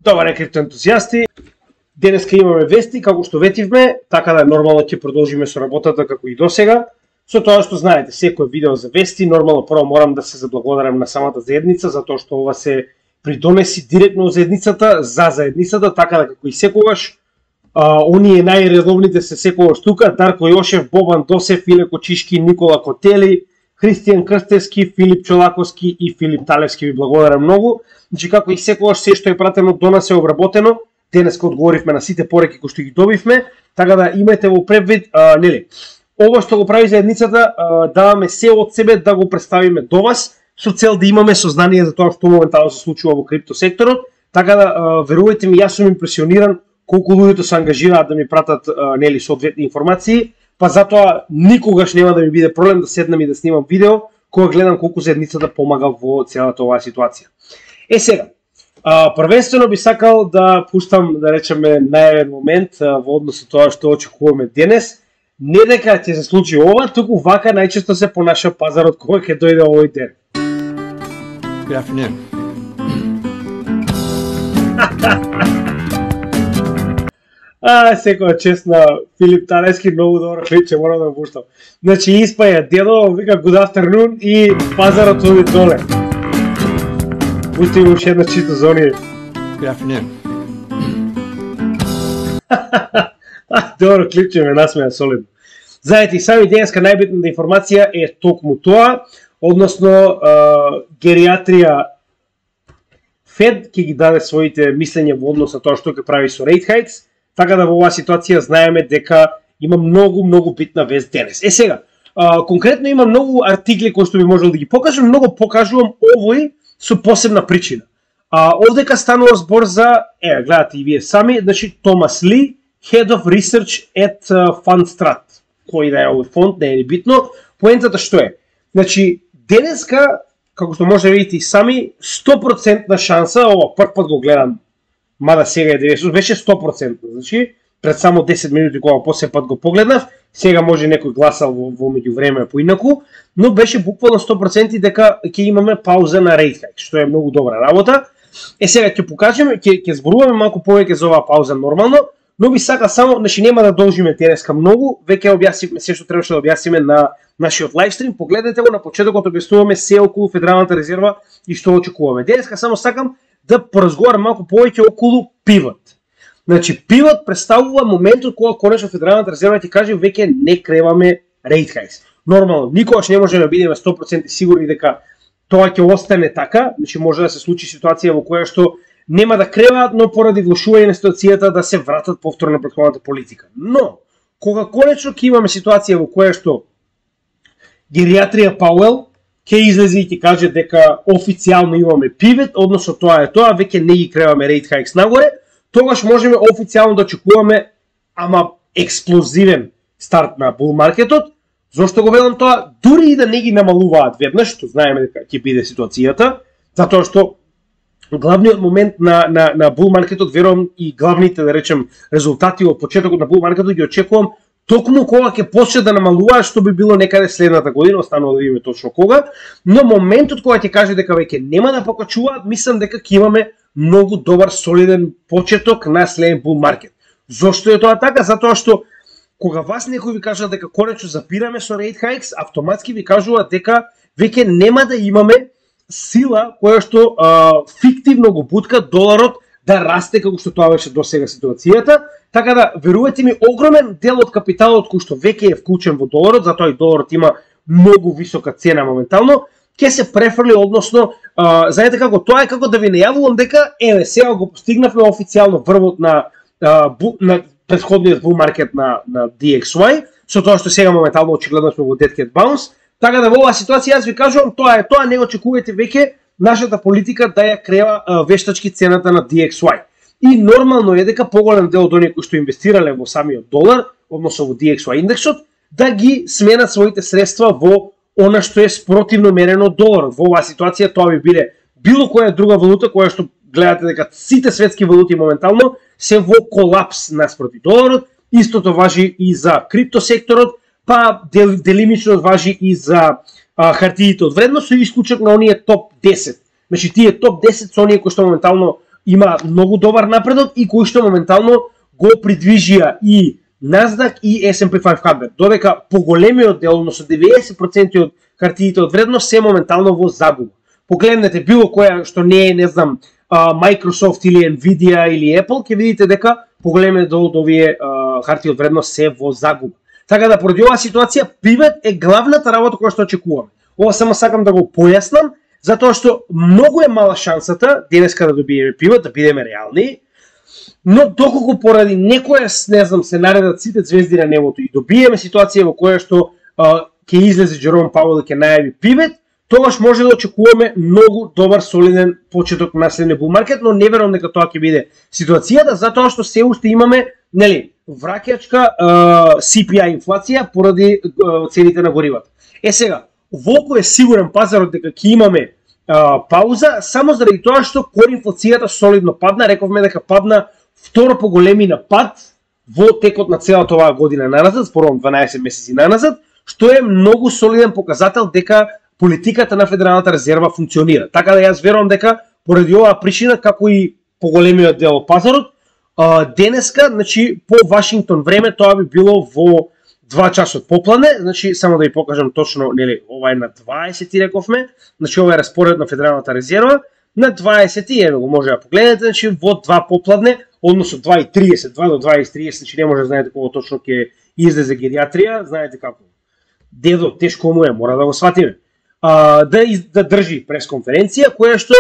Добар криптоентузијасти, денеска имаме вести, како што ветивме, така да нормално ќе продолжиме со работата како и досега. Со тоа што знаете, секој видео за вести, нормално прво морам да се заблагодарам на самата заедница, затоа што ова се придонеси директно заедницата, за заедницата, така да како и секогаш, оние најредовните се секогаш тука, Дарко Јошев, Бобан Досев, Иле Кочишки, Никола Котели, Христијан Крстевски, Филип Чолаковски и Филип Талевски, ви благодарам многу. Значи, како и секогаш, се што е пратено до нас е обработено. Денеска одговоривме на сите пореки кои што ги добивме, така да имајте во превид, нели. Ова што го прави заедницата, даваме се од себе да го представиме до вас, со цел да имаме сознание за тоа што моментално се случува во криптосекторот. Така да, верувајте ми, јас сум импресиониран колку луѓето се ангажираат да ми пратат нели соодветни информации, па затоа никогаш нема да ми биде проблем да седнам и да снимам видео кога гледам колку заедницата помага во целата оваа ситуација. Сега, првенствено би сакал да пуштам, да речеме, најавен момент во однос со тоа што очекуваме денес. Не дека ќе се случи ова, туку вака најчесто се понаша пазарот кога ќе дојде овој ден. Good afternoon. Секоја чест на Филип Талевски, многу добро вече, морам да го пуштам. Значи, испаја дедо, вика good afternoon и пазарот оди доле. Пусти го уште една чисто за оние. Good afternoon. Добро, клипче ме насмеја солидно. Знаете, сами денеска најбитната информација е токму тоа, односно гериатрија Фед ќе ги даде своите мислења во однос на тоа што ќе прави со rate hikes, така да во оваа ситуација знаеме дека има многу битна вест денес. Сега, конкретно има многу артикли кои што би можел да ги покажам, многу покажувам овој со посебна причина. Овдека станува збор за, гледате и вие сами, значи Томас Ли, Head of Research at Fundstrat. Кој да е овој фонд, не е битно. Поентата што е? Значи, денеска, како што може да видите и сами, 100% шанса, ова прв пат го гледам, мада сега е 90, беше 100%, значи, пред само 10 минути кога после пат го погледнав, сега може некој гласал во меѓувреме поинаку, но беше буквално 100% дека ќе имаме пауза на rate hike, што е многу добра работа. Сега ќе покажеме, ќе зборуваме малку повеќе за оваа пауза нормално, но би сака само, значи нема да должиме денеска многу, веќе објаснивме се што требаше да објасниме на нашиот лайвстрим, погледнете го на почетокот, објаснуваме се околу Федералната резерва и што очекуваме. Денеска само сакам да поразговарам малку повеќе околу пивот. Значи, пивот представува моментот кога конечно Федералната резерва ќе каже веќе не креваме rate hikes. Нормално, никогаш не можеме да бидеме 100% сигурни дека тоа ќе остане така, значи може да се случи ситуација во која што нема да креваат, но поради влошување на ситуацијата да се вратат повторно на претходната политика. Но, кога конечно ќе имаме ситуација во која што гериатрија Пауел ќе излезе и ќе каже дека официјално имаме пивот, односно тоа е тоа, веќе не ги креваме rate hikes нагоре, тогаш можеме официјално да очекуваме ама експлозивен старт на бул маркетот. Зошто го велам тоа? Дури и да не ги намалуваат веднаш, што знаеме дека ќе биде ситуацијата, затоа што главниот момент на бул маркетот, верувам и главните, да речем, резултати од почетокот на бул маркетот ги очекувам токму кога ќе почне да намалуваат, што би било некаде следната година, останува да видиме точно кога, но моментот кога ќе каже дека веќе нема да покачуваат, мислам дека ќе имаме многу добар солиден почеток на следен бул маркет. Зошто е тоа така? Затоа што кога вас некој ви кажа дека конечно запираме со rate hikes, автоматски ви кажува дека веќе нема да имаме сила која што фиктивно го бутка доларот да расте како што тоа беше до сега ситуацијата, така да верувајте ми, огромен дел од капиталот кој што веќе е вклучен во доларот, затоа и доларот има многу висока цена моментално, ќе се префрли, односно, знаете како, тоа е како да ви најавувам дека сега го постигнавме официјално врвот на претходниот бул маркет на DXY, со тоа што сега моментално очигледно сме во Dead Cat Bounce. Така да во оваа ситуација јас ви кажувам, тоа е тоа, не очекувате веќе нашата политика да ја крева вештачки цената на DXY. И нормално е дека поголем дел од оние кои што инвестирале во самиот долар, односно во DXY индексот, да ги сменат своите средства во она што е спротивно мерено од доларот. Во оваа ситуација тоа би биде било која друга валута која што гледате дека сите светски валути моментално се во колапс наспроти доларот. Истото важи и за криптосекторот, па делимично важи и за хартиите од вредност, со исклучок на оние топ 10. Значи тие топ 10 со оние кои што моментално има многу добар напредок и кој што моментално го придвижија и Nasdaq и S&P 500, додека поголемиот дел, односно 90% од хартиите од вредност се моментално во загуба. Погледнете било која што не е, не знам, Microsoft или Nvidia или Apple, ќе видите дека поголемиот дел од овие хартии од вредност се во загуба. Така да поради оваа ситуација пивет е главната работа која што очекуваме. Ова само сакам да го појаснам, затоа што многу е мала шансата денеска да добиеме пивет, да бидеме реални. Но доколку поради некоја, не знам, се наредат сите звезди на небото и добиеме ситуација во која што ќе излезе Джером Пауел и ќе најави пивет, тогаш може да очекуваме многу добар солиден почеток на следниот бул маркет, но не верувам дека тоа ќе биде ситуацијата, затоа што се уште имаме, нели, враќачка CPI инфлација поради цените на горивата. Сега, волку е сигурен пазарот дека ќе имаме пауза, само заради тоа што кор инфлацијата солидно падна, рековме дека падна второ по големина пад во текот на целата оваа година наназад, според 12 месеци наназад, што е многу солиден показател дека политиката на Федералната резерва функционира. Така да јас верувам дека поради оваа причина, како и поголемиот дел од пазарот, денеска, значи по Вашингтон време тоа би било во 2 часот попладне, значи само да ви покажам точно, нели, ова е на 20 рековме, значи ова е распоред на Федералната резерва, на 20, еве го може да погледнете, значи во 2 попладне, односно 2:30, 2 до 20:30, значи не може да знаете кога точно ќе излезе гериатрија, знаете како. Дедо тешко му е, мора да го сватиме. Да држи пресконференција која што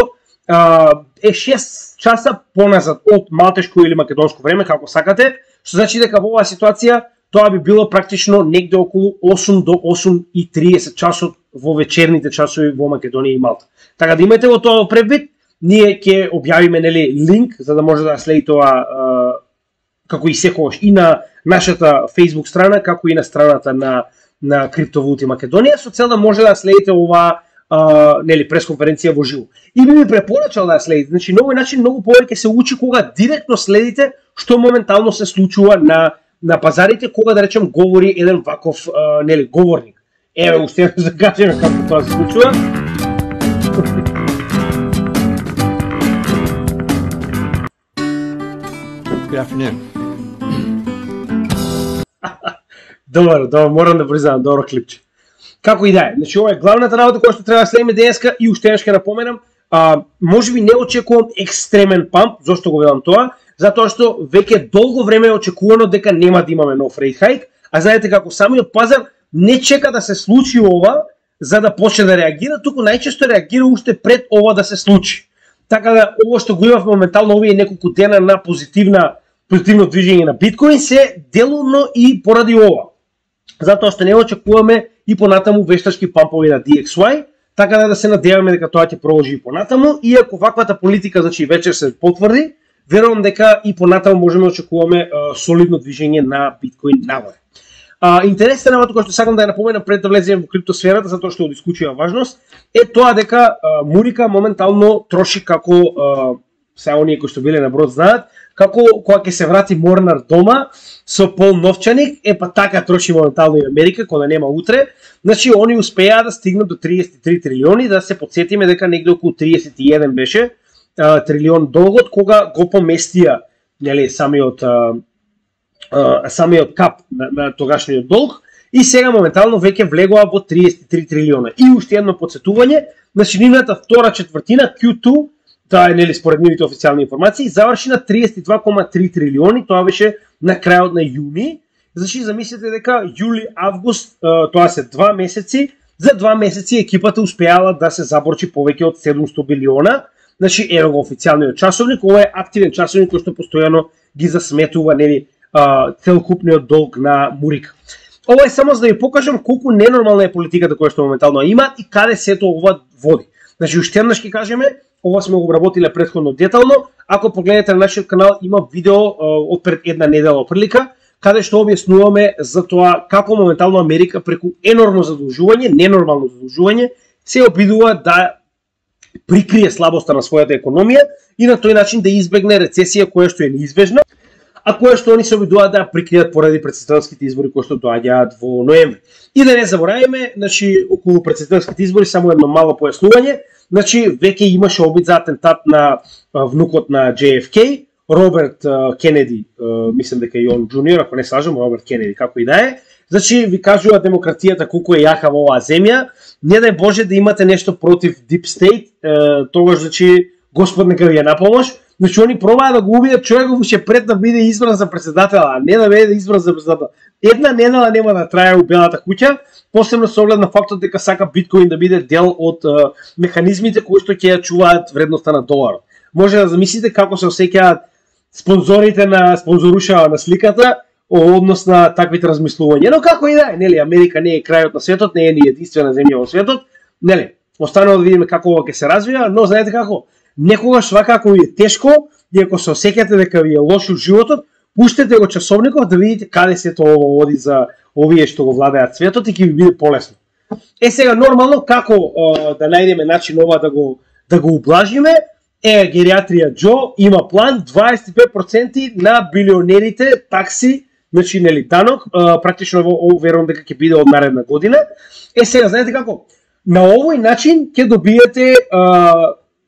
е 6 часа поназад од малтешко или македонско време, како сакате, што значи дека во оваа ситуација тоа би било практично негде околу 8 до 8:30 часот во вечерните часови во Македонија и Малта. Така да имате во тоа предвид, ние ќе објавиме, нели, линк за да може да следите тоа како и секогаш и на нашата Facebook страна, како и на страната на Криптовалути Македонија, со цел да може да следите оваа нели пресконференција во живо. И би ми препорачал да ја следите. Значи на овој начин многу повеќе се учи кога директно следите што моментално се случува на пазарите, кога да речем говори еден ваков нели говорник. Еве уште да кажеме како тоа се случува. Good afternoon. Добро, морам да признам, добро клипче. Како и да е, значи ова е главната работа која што треба да следиме денеска и уште ќе напоменам, можеби не очекувам екстремен памп, зошто го велам тоа? Затоа што веќе долго време е очекувано дека нема да имаме нов рейт хайк, а знаете како самиот пазар не чека да се случи ова за да почне да реагира, туку најчесто реагира уште пред ова да се случи. Така да ово што го имав моментално овие неколку дена на позитивно движење на биткоин се делумно и поради ова. Затоа што не очекуваме и понатаму вештачки пампови на DXY, така да се надеваме дека тоа ќе продолжи и понатаму, и ако ваквата политика, значи вечер се потврди, верувам дека и понатаму можеме да очекуваме солидно движење на биткоин нагоре. Интересна работа која што сакам да ја напоменам пред да влеземе во криптосферата, затоа што од исклучива важност, е тоа дека Мурика моментално троши како сега оние кои што биле на брод знаат, како кога ќе се врати Морнар дома со пол новчаник, па така троши моментално и Америка, кога нема утре. Значи они успеа да стигнат до 33 трилиони, да се потсетиме дека негде околу 31 беше трилион долгот кога го поместија, нели, самиот кап на тогашниот долг, и сега моментално веќе влегува во 33 трилиона. И уште едно подсетување, значи нивната втора четвртина Q2, тоа е, нели, според нивните официјални информации, заврши на 32,3 трилиони, тоа беше на крајот на јуни. Значи замислете дека јули, август, тоа се 2 месеци, за 2 месеци екипата успеала да се заборчи повеќе од 700 билиона. Значи ево го официјалниот часовник, ова е активен часовник кој што постојано ги засметува, нели, целокупниот долг на Мурика. Ова е само за да ви покажам колку ненормална е политиката која што моментално има и каде сето ова води. Значи уште еднаш ќе кажеме, ова сме го обработиле претходно детално. Ако погледнете на нашиот канал, има видео од пред една недела прилика, каде што објаснуваме за тоа како моментално Америка преку енормно задолжување, ненормално задолжување, се обидува да прикрие слабоста на својата економија и на тој начин да избегне рецесија која што е неизбежна, а која што они се обидуваат да прикријат поради претседателските избори кои што доаѓаат во ноември. И да не забораваме, значи околу претседателските избори само едно мало појаснување, Значи, веќе имаше обид за атентат на внукот на JFK, Роберт Кенеди, мислам дека и он джуниор, ако не слажам, Роберт Кенеди, како и да е. Значи, ви кажува демократијата колку е јака во оваа земја. Не дај Боже да имате нешто против Deep State, тогаш, значи, Господ нека ви е на помош. Значи, они пробаа да го убијат човекот уште пред да биде избран за председател, а не да биде избран за председател. Една недела нема да трае у Белата куќа, посебно со оглед на фактот дека сака биткоин да биде дел од механизмите кои што ќе ја чуваат вредноста на доларот. Може да замислите како се осеќаат спонзорите на спонзорушава на сликата однос на таквите размислувања. Но како и да е, нели, Америка не е крајот на светот, не е ни единствена земја во светот, нели. Останува да видиме како ова ќе се развива, но знаете како, некогаш свакако ви е тешко и ако се осеќате дека ви е лошо животот, пуштете го часовникот да видите каде сето ова оди за овие што го владеат светот и ќе ви биде полесно. Сега нормално како да најдеме начин ова да го ублажиме, гериатрија Џо има план 25% на билионерите такси, значи нели данок, практично верувам дека ќе биде од наредна година. Сега знаете како, на овој начин ќе добиете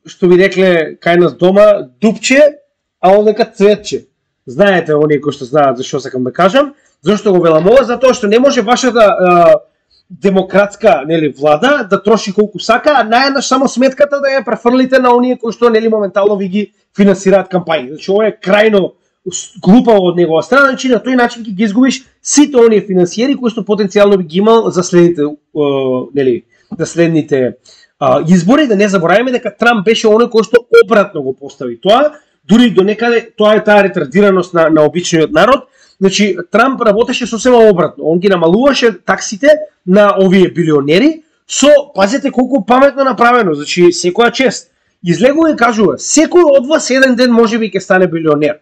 што ви рекле кај нас дома дупче, а овдека цветче. Знаете оние кои што знаат зашто сакам да кажам, зашто го велам ова, затоа што не може вашата демократска, нели, влада да троши колку сака, а наеднаш само сметката да ја префрлите на оние кои што, нели, моментално ви ги финансираат кампањи. Значи ова е крајно глупаво од негова страна, значи на тој начин ќе ги изгубиш сите оние финансиери кои што потенцијално би ги имал за следните, нели, за следните избори. Да не забораваме дека Трамп беше оној кој што обратно го постави тоа, дури до некаде тоа е таа ретардираност на обичниот народ. Значи, Трамп работеше сосема обратно. Он ги намалуваше таксите на овие билионери со, пазете колку паметно направено, значи секоја чест. Излегува и кажува, секој од вас еден ден можеби ќе стане билионер.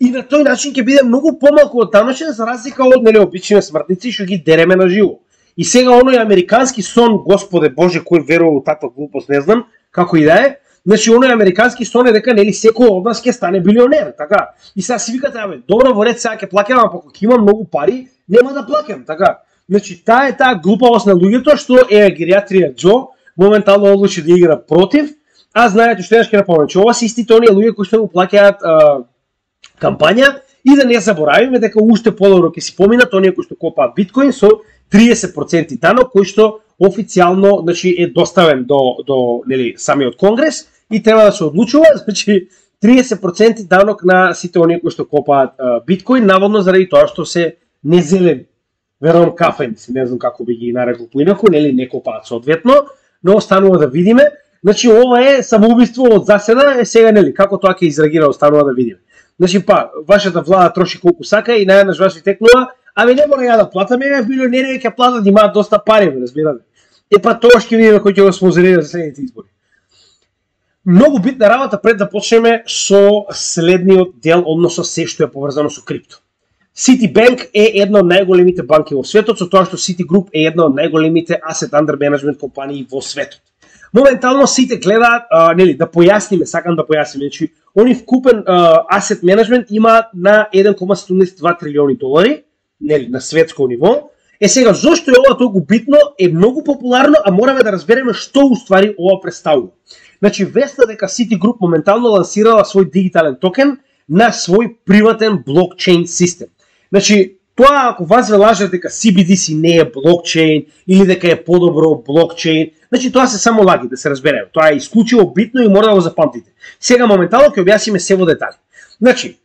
И на тој начин ќе биде многу помалку од даночен за разлика од, нели, обични смртници што ги дереме на живо. И сега оној американски сон, Господе Боже, кој верува во таква глупост, не знам, како и да е. Значи, оној американски сон е дека, нели, секој од нас ќе стане билионер, така. И сега си викате, добро, во ред, сега ќе плаќам, а кога ќе имам многу пари, нема да плаќам, така. Значи, таа е таа глупавост на луѓето што гериатрија Џо моментално одлучи да игра против, а знаете што ќе напомнам, че ова се истите оние луѓе кои што го плаќаат кампања и да не заборавиме дека уште подобро ќе си поминат оние кои што копаат биткоин со 30% данок кој што официјално, значи, е доставен до нели самиот конгрес и треба да се одлучува, значи 30% данок на сите оние кои што копаат биткоин, наводно заради тоа што се незелени. Верувам кафени, не знам како би ги нарекол поинаку, нели не копаат соодветно, но останува да видиме. Значи ова е самоубиство од заседа, сега нели како тоа ќе изреагира, останува да видиме. Значи вашата влада троши колку сака и најнаш вас ви текнува, не мора ја да платаме, билионери ќе платат, имаат доста пари, разбирате. Тоа ќе видиме кој ќе го спонзорира за следните избори. Многу битна работа пред да почнеме со следниот дел, односно се што е поврзано со крипто. Citibank е една од најголемите банки во светот, со тоа што Citigroup е една од најголемите asset under management компании во светот. Моментално сите гледаат, нели, да појасниме, сакам да појасниме, значи, они вкупен asset management има на 1,72 трилиони долари, нели, на светско ниво. Сега, зошто е ова толку битно, е многу популарно, а мораме да разбереме што уствари ова представува. Значи, веста дека Citigroup моментално лансирала свој дигитален токен на свој приватен блокчейн систем. Значи, тоа ако вас ве лажат дека CBDC не е блокчейн или дека е подобро блокчейн, значи тоа се само лаги, да се разбереме. Тоа е исклучиво битно и мора да го запамтите. Сега моментално ќе објасниме се во детали. Значи,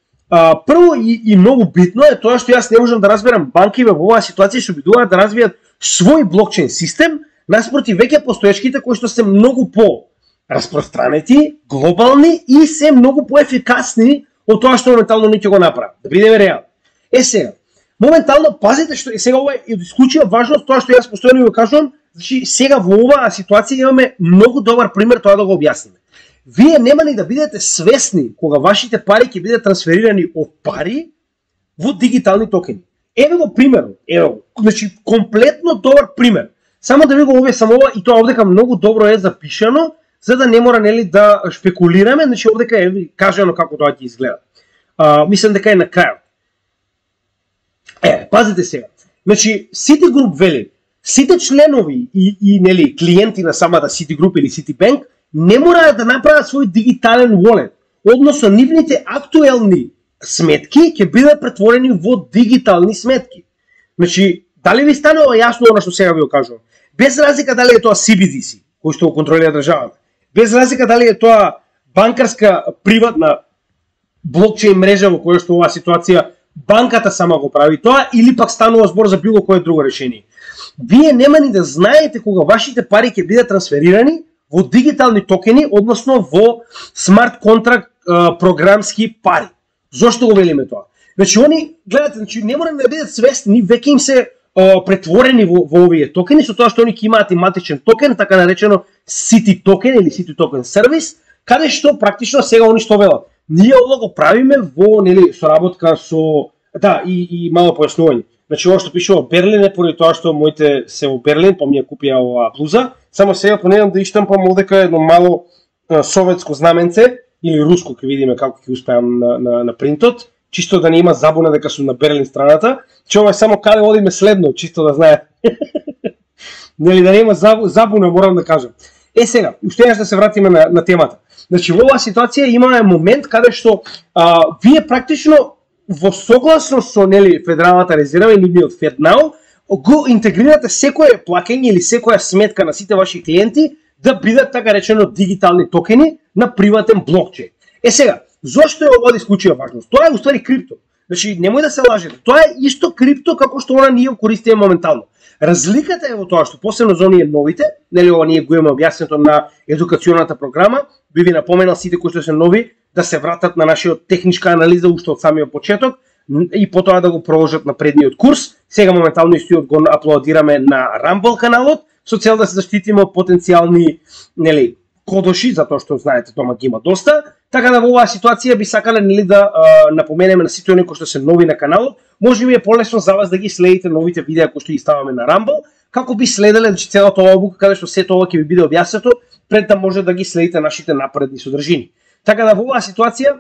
прво и многу битно е тоа што јас не можам да разберам банки во оваа ситуација што обидуваат да развијат свој блокчейн систем наспроти веќе постоечките кои што се многу по распространети, глобални и се многу поефикасни од тоа што моментално не ќе го направат. Да бидеме реални. Сега, моментално пазите што сега ова е исклучива важност тоа што јас постојано го кажувам, значи сега во оваа ситуација имаме многу добар пример тоа да го објасниме. Вие нема ни да бидете свесни кога вашите пари ќе бидат трансферирани од пари во дигитални токени. Еве го примерот, еве го. Значи комплетно добар пример. Само да ви го објаснам ова и тоа овдека многу добро е запишано, за да не мора, нели, да шпекулираме, значи овдека е кажано како тоа ќе изгледа. Мислам дека е на крајот. Пазите сега. Значи Citigroup вели, сите членови и нели клиенти на самата Citigroup или Citibank не мора да направат свој дигитален wallet, односно нивните актуелни сметки ќе бидат претворени во дигитални сметки. Значи, дали ви станува јасно она што сега ви го кажувам? Без разлика дали е тоа CBDC, кој што го контролира државата, без разлика дали е тоа банкарска приватна блокчейн мрежа во која што оваа ситуација банката сама го прави тоа, или пак станува збор за било кое друго решение. Вие нема ни да знаете кога вашите пари ќе бидат трансферирани во дигитални токени, односно во смарт контракт програмски пари. Зошто го велиме тоа? Значи, они, гледате, значи, не мора да бидат свесни, веќе им се претворени во овие токени, со тоа што они ќе имаат и матичен токен, така наречено City токен или City токен сервис, каде што практично сега они што велат. Ние ова го правиме во, нели, соработка со, да, и мало појаснување. Значи, ова што пише во Берлин е поради тоа што моите се во Берлин, па ми ја купија оваа блуза. Само сега понедам да иштампам овдека едно мало советско знаменце или руско, ќе видиме како ќе успеам на принтот, чисто да не има забуна дека сум на Берлин страната. Че ова е само каде одиме следно, чисто да знае. Нели да не има забуна, морам да кажам. Сега, уште еднаш да се вратиме на темата. Значи, во оваа ситуација имаме момент каде што вие практично во согласно со, нели, Федералната резерва и нивниот FedNow го интегрирате секое плаќање или секоја сметка на сите ваши клиенти да бидат, така речено, дигитални токени на приватен блокчейн. Сега, зошто е ова од исклучива важност? Тоа е уствари крипто. Значи, немој да се лажете. Тоа е исто крипто како што она ние користиме моментално. Разликата е во тоа што посебно за оние новите, нели ова ние го имаме објаснето на едукационата програма, би ви напоменал сите кои што се нови да се вратат на нашиот техничка анализа уште од самиот почеток и потоа да го продолжат на предниот курс. Сега моментално истиот го аплодираме на Rumble каналот со цел да се заштитиме од потенцијални, нели, кодоши, затоа што знаете дома ги има доста. Така да во оваа ситуација би сакале, нели, да напоменеме на сите оние кои што се нови на каналот, може би е полесно за вас да ги следите новите видеа кои што ги ставаме на Rumble, како би следеле, значи, целата оваа обука каде што сето ова ќе ви биде објаснето пред да може да ги следите нашите напредни содржини. Така да во оваа ситуација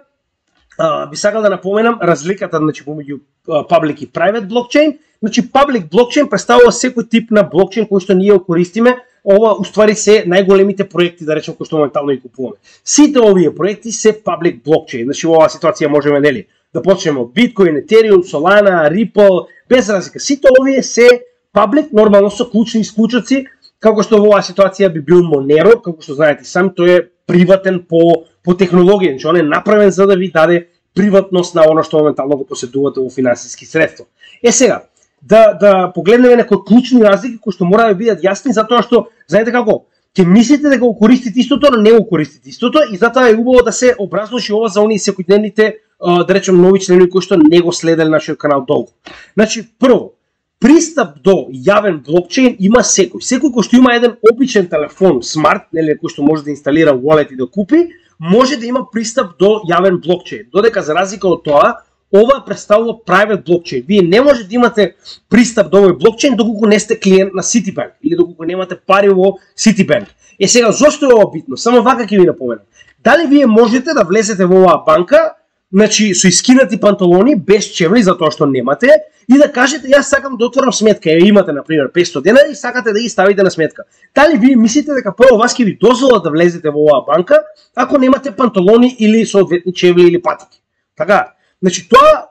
би сакал да напоменам разликата, значи, помеѓу public и private блокчейн. Значи, public блокчейн представува секој тип на блокчейн кој што ние го користиме. Ова уствари се најголемите проекти, да речем, кои што моментално ги купуваме. Сите овие проекти се public блокчейн. Значи, во оваа ситуација можеме, нели, да почнеме од Bitcoin, Ethereum, Solana, Ripple, без разлика. Сите овие се public, нормално со клучни исклучоци, како што во оваа ситуација би бил Monero, како што знаете сами, тој е приватен по технологија, значи он е направен за да ви даде приватност на оно што моментално го поседувате во финансиски средства. Сега, да погледнеме некои клучни разлики кои што мора да бидат јасни, затоа што, знаете како, ќе мислите дека го користите истото, но не го користите истото, и затоа е убаво да се образлоши ова за оние секојдневните, да речем, нови членови кои што не го следеле нашиот канал долго. Значи, прво, пристап до јавен блокчейн има секој. Секој кој што има еден обичен телефон, смарт, нели, кој што може да инсталира wallet и да купи, може да има пристап до јавен блокчейн. Додека за разлика од тоа, ова представува private блокчейн. Вие не може да имате пристап до овој блокчейн доколку не сте клиент на Citibank или доколку немате пари во Citibank. Сега, зошто е ова битно? Само вака ќе ви напоменам. Дали вие можете да влезете во оваа банка, значи со искинати панталони, без чевли, затоа што немате, и да кажете, јас сакам да отворам сметка, имате, например, 500 денари и сакате да ги ставите на сметка. Дали вие мислите дека прво вас ќе ви дозвола да влезете во оваа банка, ако немате панталони или соодветни чевли или патики? Така, значи тоа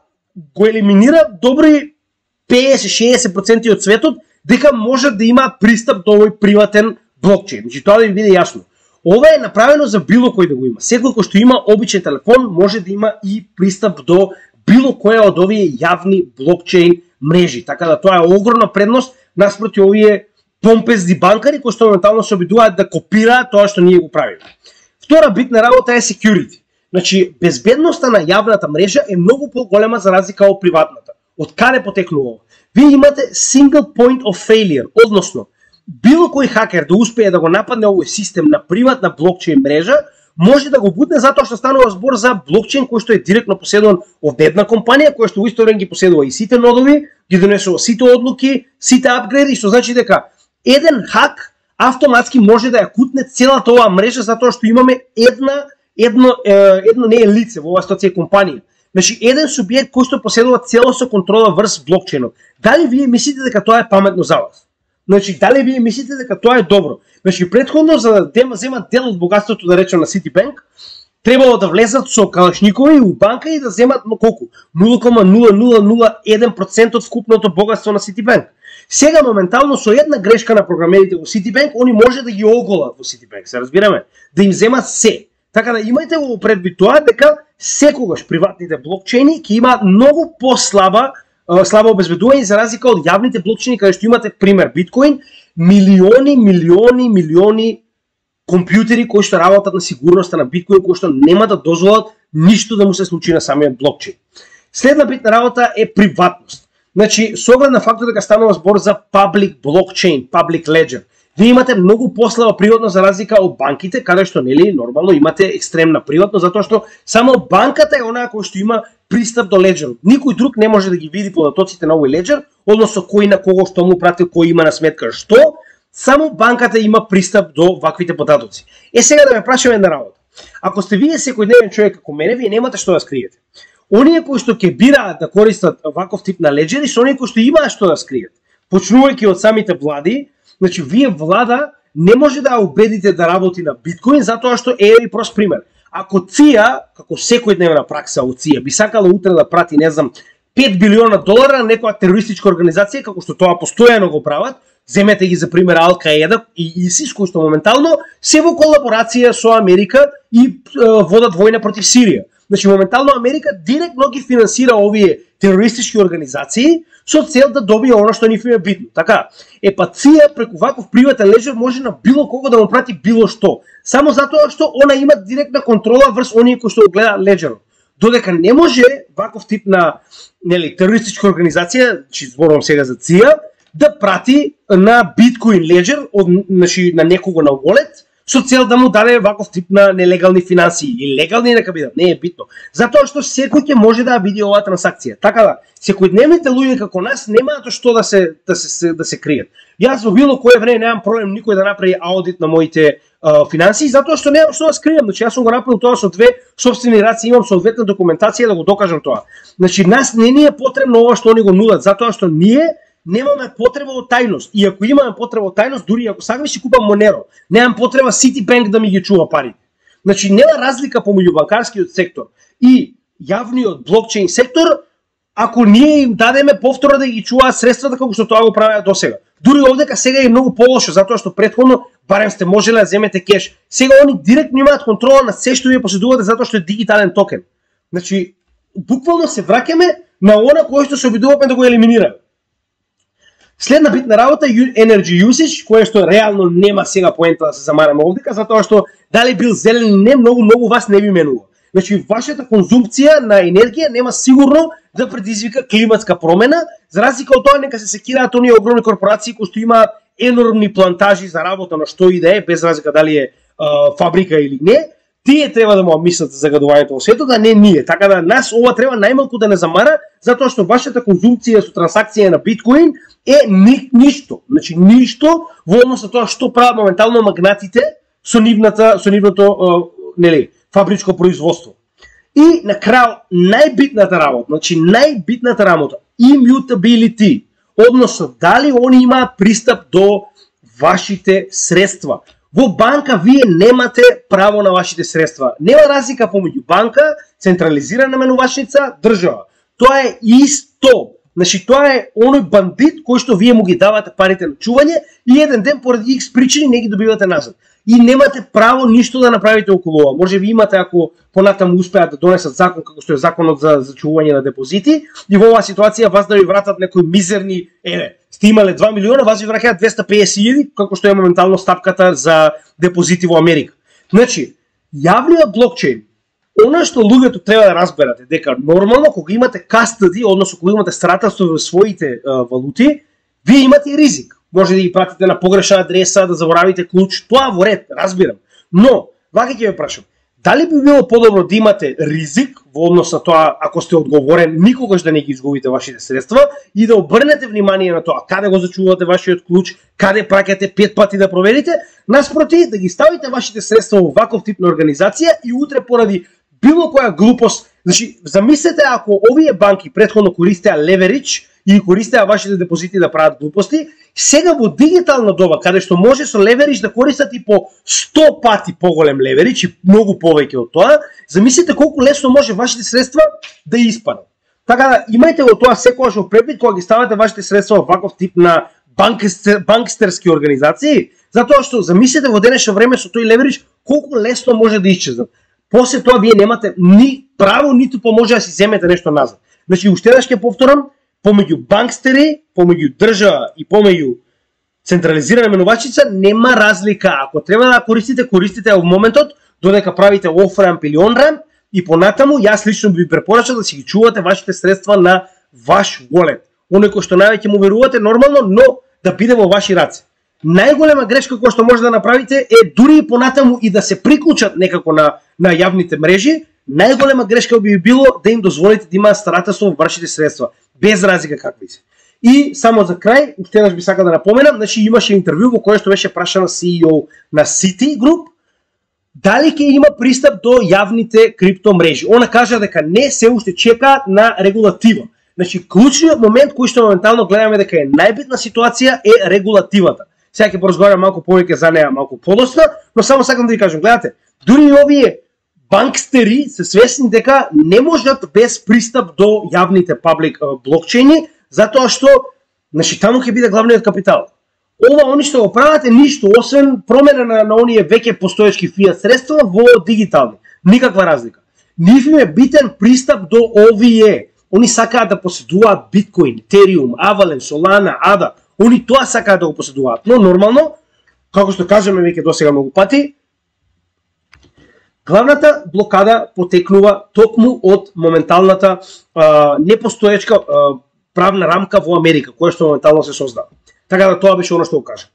го елиминира добри 50-60% од светот дека може да има пристап до овој приватен блокчейн. Значи тоа да ви биде јасно. Ова е направено за било кој да го има. Секој кој што има обичен телефон може да има и пристап до било која од овие јавни блокчейн мрежи. Така да тоа е огромна предност наспроти овие помпезни банкари кои што моментално се обидуваат да копираат тоа што ние го правиме. Втора битна работа е security. Значи, безбедноста на јавната мрежа е многу поголема за разлика од приватната. Од каде потекнува ова? Вие имате single point of failure, односно, било кој хакер да успее да го нападне овој систем на приватна блокчейн мрежа, може да го бутне затоа што станува збор за блокчейн кој што е директно поседуван од една компанија, која што во исто време ги поседува и сите нодови, ги донесува сите одлуки, сите апгрейди, што значи дека еден хак автоматски може да ја кутне целата оваа мрежа затоа што имаме едно не е лице во оваа ситуација компанија. Значи еден субјект кој што поседува целосно контрола врз блокчейнот. Дали вие мислите дека тоа е паметно за вас? Значи, дали вие мислите дека тоа е добро? Значи, претходно, за да земат дел од богатството, да речем, на Citibank, требало да влезат со калашникови у банка и да земат колку? 0,0001% од вкупното богатство на Citibank. Сега, моментално, со една грешка на програмерите во Citibank, они може да ги оголат во Citibank, се разбираме? Да им земат се. Така да имајте го предвид тоа, дека секогаш приватните блокчейни ќе имаат многу слабо обезбедување за разлика од јавните блокчейни, каде што имате пример биткоин, милиони компјутери кои што работат на сигурноста на биткоин, кои што нема да дозволат ништо да му се случи на самиот блокчейн. Следна битна работа е приватност. Значи, со оглед на фактот дека станува збор за public blockchain, public ledger, вие имате многу послаба приватност за разлика од банките, каде што нели нормално имате екстремна приватност, затоа што само банката е онаа која што има пристап до леџерот. Никој друг не може да ги види податоците на овој леџер, односно кој на кого што му пратил, кој има на сметка што, само банката има пристап до ваквите податоци. Сега да ме прашаме една работа. Ако сте вие секојдневен човек како мене, вие немате што да скриете. Оние кои што ќе бираат да користат ваков тип на леџери, со оние кои што имаат што да скриет. Почнувајќи од самите влади, значи вие влада не може да убедите да работи на биткоин, затоа што и прост пример. Ако ЦИА, како секојдневна пракса од ЦИА, би сакала утре да прати, не знам, $5 билиона на некоја терористичка организација, како што тоа постојано го прават, земете ги за пример Ал-Каеда и ИСИС, кои што моментално се во колаборација со Америка и водат војна против Сирија. Значи, моментално Америка директно ги финансира овие терористички организации со цел да добие оно што нив им е битно. Така, па ЦИА преку ваков приватен леџер може на било кого да му прати било што. Само затоа што она има директна контрола врз оние кои што го гледаат леџерот. Додека не може ваков тип на терористичка организација, че зборувам сега за ЦИА, да прати на биткоин леџер на некого на wallet, со цел да му даде ваков тип на нелегални финансии. И легални нека бидат, не е битно. Затоа што секој ќе може да види оваа трансакција. Така да, секојдневните луѓе како нас немаат што да се кријат. Јас во било кое време немам проблем никој да направи аудит на моите финансии, затоа што немам што да скријам. Значи, јас сум го направил тоа со две сопствени раци, имам соодветна документација да го докажам тоа. Значи, нас не ни е потребно ова што они го нудат, затоа што ние немаме потреба од тајност. И ако имаме потреба од тајност, дури ако сакам си купам Monero, немам потреба Citibank да ми ги чува парите. Значи, нема разлика помеѓу банкарскиот сектор и јавниот блокчейн сектор, ако ние им дадеме повторно да ги чуваат средствата како што тоа го правеа досега. Дури овдека сега е многу полошо, затоа што претходно барем сте можеле да земете кеш. Сега они директно имаат контрола на се што вие поседувате затоа што е дигитален токен. Значи, буквално се враќаме на она кое што се обидуваме да го елиминираме. Следна битна работа е energy usage, кое што реално нема сега поента да се замараме овдека, затоа што дали бил зелен или не, многу вас не би менува. Значи, вашата конзумпција на енергија нема сигурно да предизвика климатска промена, за разлика од тоа нека се секираат оние огромни корпорации кои што имаат енормни плантажи за работа на што и да е, без разлика дали е фабрика или не. Тие треба да му мислат за загадувањето во светот, а не ние. Така да нас ова треба најмалку да не замара, затоа што вашата конзумпција со трансакција на биткоин е ништо. Значи ништо во однос на тоа што прават моментално магнатите со нивното фабричко производство. И на крај најбитната работа, значи најбитната работа, immutability, односно дали они имаат пристап до вашите средства. Во банка вие немате право на вашите средства. Нема разлика помеѓу банка, централизирана менувачница, држава. Тоа е исто. Значи тоа е оној бандит кој што вие му ги давате парите на чување и еден ден поради X причини не ги добивате назад. И немате право ништо да направите околу ова. Може би имате ако понатаму успеат да донесат закон како што е законот за чување на депозити и во оваа ситуација вас да ви вратат некои мизерни, сте имале 2 милиона, вас ви враќаат 250.000 како што е моментално стапката за депозити во Америка. Значи, јавниот блокчейн, она што луѓето треба да разберат е дека нормално кога имате кастади, односно кога имате старателство во своите валути, вие имате ризик. Може да ги пратите на погрешна адреса, да заборавите клуч, тоа во ред, разбирам. Но, вака ќе ве прашам, дали би било подобро да имате ризик во однос на тоа, ако сте одговорен, никогаш да не ги изгубите вашите средства и да обрнете внимание на тоа, каде го зачувате вашиот клуч, каде праќате 5 пати да проверите, наспроти да ги ставите вашите средства во ваков тип на организација и утре поради било која глупост, значи, замислете ако овие банки претходно користеа леверидж и користеа вашите депозити да прават глупости, сега во дигитална доба, каде што може со леверидж да користат и по 100 пати поголем леверидж и многу повеќе од тоа, замислите колку лесно може вашите средства да испаднат. Така да имајте го тоа секогаш во предвид кога ги ставате вашите средства во ваков тип на банкстерски организации, затоа што замислете во денешно време со тој леверидж колку лесно може да исчезнат. После тоа вие немате ни право, ниту може да си земете нешто назад. Значи, уште еднаш ќе повторам, помеѓу банкстери, помеѓу држава и помеѓу централизирана менувачица нема разлика. Ако треба да користите, користите во моментот, додека правите оф-рамп или он-рамп, и понатаму, јас лично би препорачал да си ги чувате вашите средства на ваш wallet. Оној кој што највеќе му верувате нормално, но да биде во ваши раце. Најголема грешка која што може да направите е дури и понатаму и да се приклучат некако на јавните мрежи, најголема грешка би било да им дозволите да имаат старателство во вашите средства, без разлика какви се. И само за крај, уште еднаш би сакал да напоменам, значи имаше интервју во кое што беше прашана CEO на Citigroup, дали ќе има пристап до јавните крипто мрежи. Она кажа дека не се уште чека на регулатива. Значи, клучниот момент кој што моментално гледаме дека е најбитна ситуација е регулативата. Сега ќе поразговарам малку повеќе за неа малку подоцна, но само сакам да ви кажам, гледате, дури и овие банкстери се свесни дека не можат без пристап до јавните паблик блокчейни, затоа што, значи, таму ќе биде главниот капитал. Ова они што го прават е ништо, освен промена на оние веќе постоечки фиат средства во дигитални. Никаква разлика. Нив им е битен пристап до овие. Они сакаат да поседуваат биткоин, Ethereum, Avalanche, Solana, ADA. Они тоа сакаат да го поседуваат. Но нормално, како што кажеме веќе досега многу пати, главната блокада потекнува токму од моменталната непостоечка правна рамка во Америка, која што моментално се создава. Така да тоа беше оно што го кажа.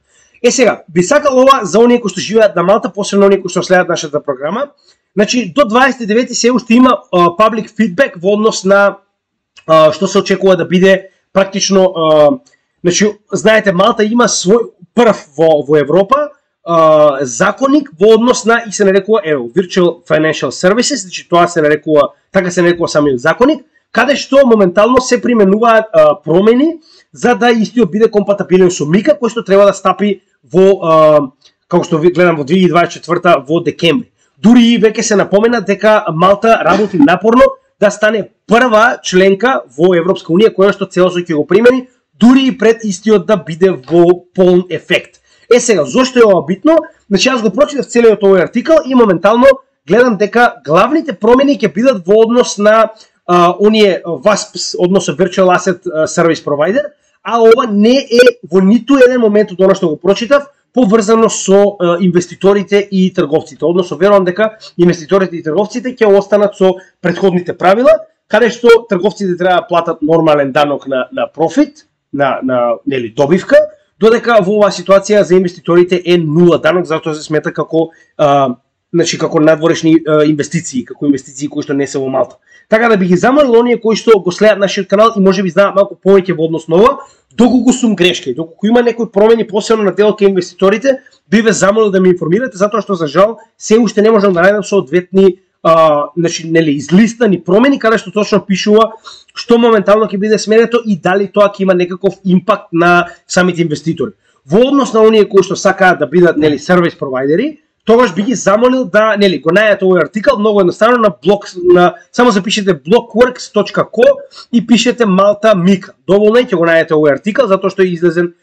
Сега, би сакал ова за оние кои што живеат на Малта, посебно оние кои што следат нашата програма. Значи, до 29 се уште има public feedback во однос на што се очекува да биде практично, значи, знаете, Малта има свој прв во Европа законник во однос на, и се нарекува Virtual Financial Services, значи тоа се нарекува, така се нарекува самиот законник, каде што моментално се применуваат промени за да истиот биде компатибилен со Мика, кој што треба да стапи во, како што гледам, во 2024 во декември. Дури и веќе се напомена дека Малта работи напорно да стане прва членка во Европска унија која што целосно ќе го примени, дури и пред истиот да биде во полн ефект. Сега, зошто е ова битно? Значи, јас го прочитав целиот овој артикал и моментално гледам дека главните промени ќе бидат во однос на оние VASP, односно Virtual Asset Service Provider, а ова не е во ниту еден момент од оно што го прочитав поврзано со инвеститорите и трговците. Односно, верувам дека инвеститорите и трговците ќе останат со претходните правила, каде што трговците треба да платат нормален данок на профит, на нели добивка, додека во оваа ситуација за инвеститорите е нула данок, затоа се смета како значи како надворешни инвестиции, како инвестиции кои што не се во Малта. Така да би ги замолил оние кои што го следат нашиот канал и можеби знаат малку повеќе во однос на ова, доколку сум грешка и доколку има некои промени посебно на дел кај инвеститорите, би ве замолил да ме информирате, затоа што за жал се уште не можам да најдам соодветни значи нели излистани промени каде што точно пишува што моментално ќе биде сменето и дали тоа ќе има некаков импакт на самите инвеститори. Во однос на оние кои што сакаат да бидат нели сервис провайдери, тогаш би ги замолил да нели го најдете овој артикал многу едноставно на блог, само запишете blockworks.co и пишете Малта Мика. Доволно ќе го најдете овој артикал затоа што е излезен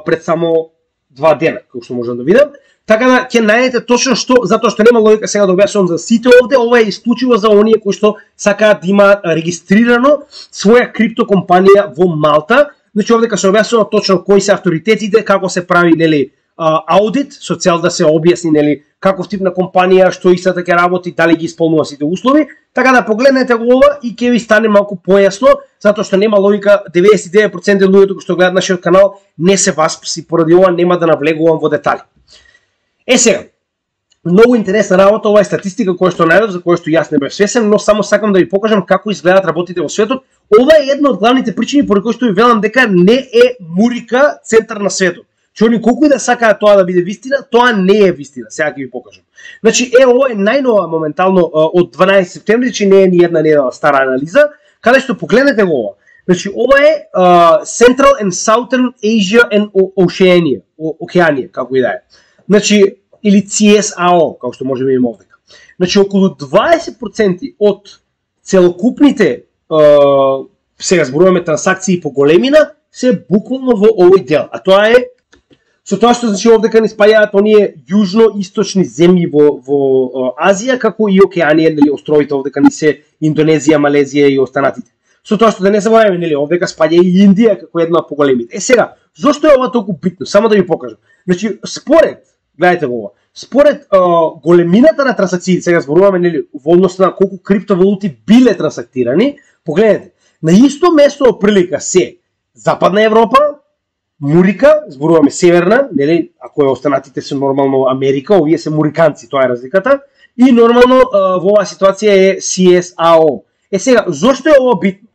пред само 2 дена, како што можам да видам. Така да ќе најдете точно што, затоа што нема логика сега да објаснувам за сите овде, ова е исклучиво за оние кои што сакаат да имаат регистрирано своја крипто компанија во Малта. Значи овде се објаснува точно кои се авторитетите, како се прави нели аудит, со цел да се објасни нели каков тип на компанија, што истата ќе работи, дали ги исполнува сите услови. Така да погледнете го ова и ќе ви стане малку појасно, затоа што нема логика, 99% од луѓето кои што гледаат нашиот канал не се васпси, поради ова нема да навлегувам во детали. Сега, многу интересна работа, ова е статистика која што најдов, за која што јас не бев свесен, но само сакам да ви покажам како изгледаат работите во светот. Ова е една од главните причини поради кои што ви велам дека не е Мурика центар на светот. Че они колку и да сакаат тоа да биде вистина, тоа не е вистина. Сега ќе ви покажам. Значи, ова е најнова моментално од 12 септември, че не е ни една недела стара анализа, каде што погледнете го ова. Значи, ова е Central and Southern Asia and Oceania, Океанија, како и да е. Значи, или CSAO, како што може да видиме овдека. Значи, околу 20% од целокупните сега зборуваме трансакции по големина се буквално во овој дел. А тоа е со тоа што значи овдека ни спајаат оние јужно-источни земји во Азија, како и Океанија, нели островите овдека ни се Индонезија, Малезија и останатите. Со тоа што да не забораваме, нели овдека спаѓа и Индија како една од поголемите. Сега, зошто е ова толку битно? Само да ви покажам. Значи, според, гледате во ова, според големината на трансакциите, сега зборуваме нели во однос на колку криптовалути биле трансактирани, погледнете, на исто место оприлика се Западна Европа, Мурика, зборуваме северна, нели, ако останатите се нормално Америка, овие се муриканци, тоа е разликата, и нормално во оваа ситуација е CSAO. Сега, зошто е ова битно?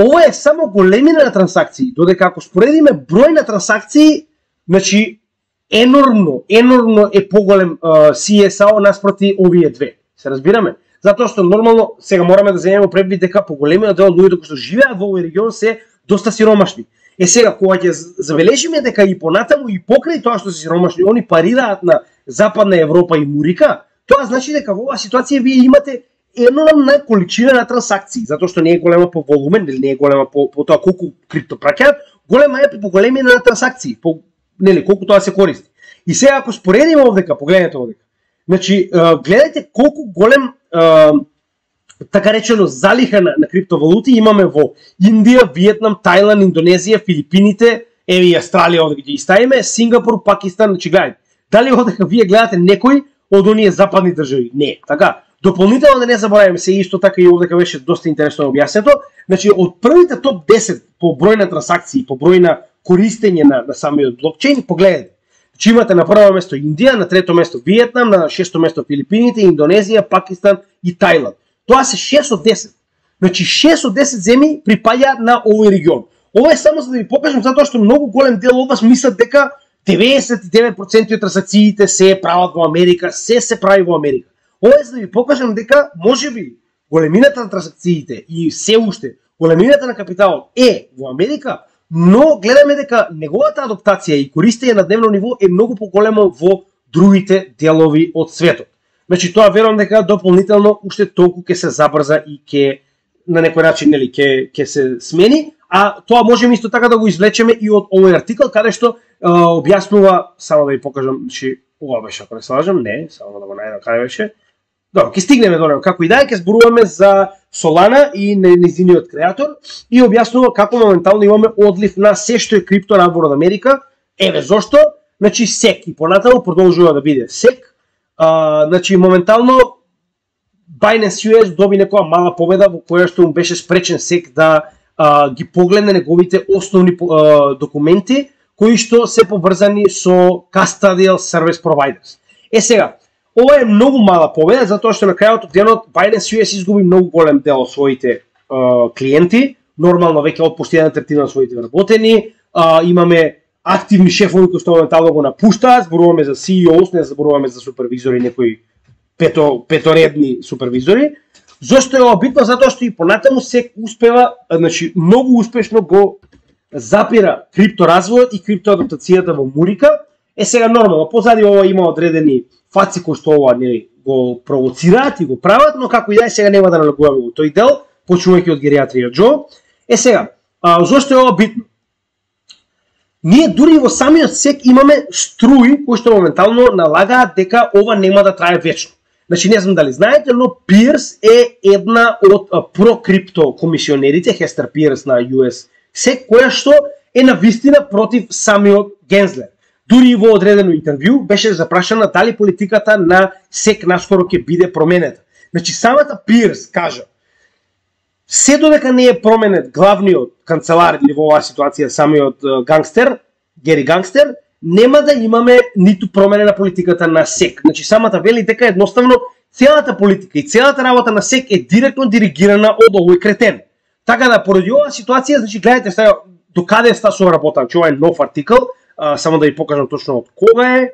Ова е само големина на трансакции, додека ако споредиме број на трансакции, значи енормно е поголем CSAO наспроти овие две. Се разбираме? Затоа што нормално сега мораме да земеме предвид дека поголемиот дел од луѓето кои што живеат во овој регион се доста сиромашни. Сега кога ќе забележиме дека и понатаму и покрај тоа што се сиромашни, они парираат на Западна Европа и Мурика, тоа значи дека во оваа ситуација вие имате енормна количина на трансакции, затоа што не е голема по волумен, или не е голема по тоа колку крипто праќаат, голема е по големина на трансакции, по нели колку тоа се користи. И сега ако споредиме овдека, погледнете овдека. Значи, гледајте колку голем така речено залиха на криптовалути имаме во Индија, Виетнам, Тајланд, Индонезија, Филипините, еве и Австралија овде ги ставиме, Сингапур, Пакистан, значи гледајте. Дали овдека вие гледате некој од оние западни држави? Не, така. Дополнително да не забораваме, се исто така и овдека беше доста интересно објаснето, значи од првите топ 10 по број на трансакции, по број на користење на самиот блокчейн, погледнете. Значи имате на прво место Индија, на трето место Виетнам, на шесто место Филипините, Индонезија, Пакистан и Тајланд. Тоа се 6 од 10. Значи 6 од 10 земји припаѓаат на овој регион. Ова е само за да ви покажам затоа што многу голем дел од вас мислат дека 99% од трансакциите се прават во Америка, се прави во Америка. Ова е за да ви покажам дека можеби големината на трансакциите и се уште големината на капиталот е во Америка, но гледаме дека неговата адаптација и користење на дневно ниво е многу поголемо во другите делови од светот. Значи тоа верувам дека дополнително уште толку ќе се забрза и ќе на некој начин нели ќе се смени, а тоа можеме исто така да го извлечеме и од овој артикал каде што објаснува, само да ви покажам, значи ова беше ако не се лажам, не, само да го најдам каде беше. Добро, ќе стигнеме до него. Како и да е, ќе зборуваме за Solana и нејзиниот креатор и објаснува како моментално имаме одлив на се што е крипто надвор од Америка. Еве зошто, значи SEC и понатаму продолжува да биде SEC. Значи моментално Binance US доби некоја мала победа во која што му беше спречен SEC да ги погледне неговите основни документи кои што се поврзани со custodial service providers. Сега, ова е многу мала победа затоа што на крајот од денот Binance US изгуби многу голем дел од своите клиенти, нормално веќе отпушти 1/3 од своите вработени, имаме активни шефови кои што моментално го напуштаат, зборуваме за CEOs, не зборуваме за супервизори, некои петоредни супервизори. Зошто е ова битно? Затоа што и понатаму се успева, значи многу успешно го запира крипторазвојот и криптоадаптацијата во Мурика. Сега нормално, позади ова има одредени фаци кои што ова нели го провоцираат и го прават, но како и да е, сега нема да налегуваме во тој дел, почнувајќи од гериатрија Џо. Сега, зошто е ова битно? Ние дури во самиот SEC имаме струи кои што моментално налагаат дека ова нема да трае вечно. Значи не знам дали знаете, но Pierce е една од прокрипто комисионерите, Хестер Pierce на US SEC, која што е на вистина против самиот Гензлер. Дури во одредено интервју беше запрашана дали политиката на SEC наскоро ќе биде променета. Значи самата Pierce кажа: се додека не е променет главниот канцелар или во оваа ситуација самиот гангстер, Гери Гангстер, нема да имаме ниту промена на политиката на SEC. Значи самата вели дека едноставно целата политика и целата работа на SEC е директно диригирана од овој кретен. Така да поради оваа ситуација, значи гледате сега до каде ста со работа, че ова е нов артикал, само да ви покажам точно од кога е,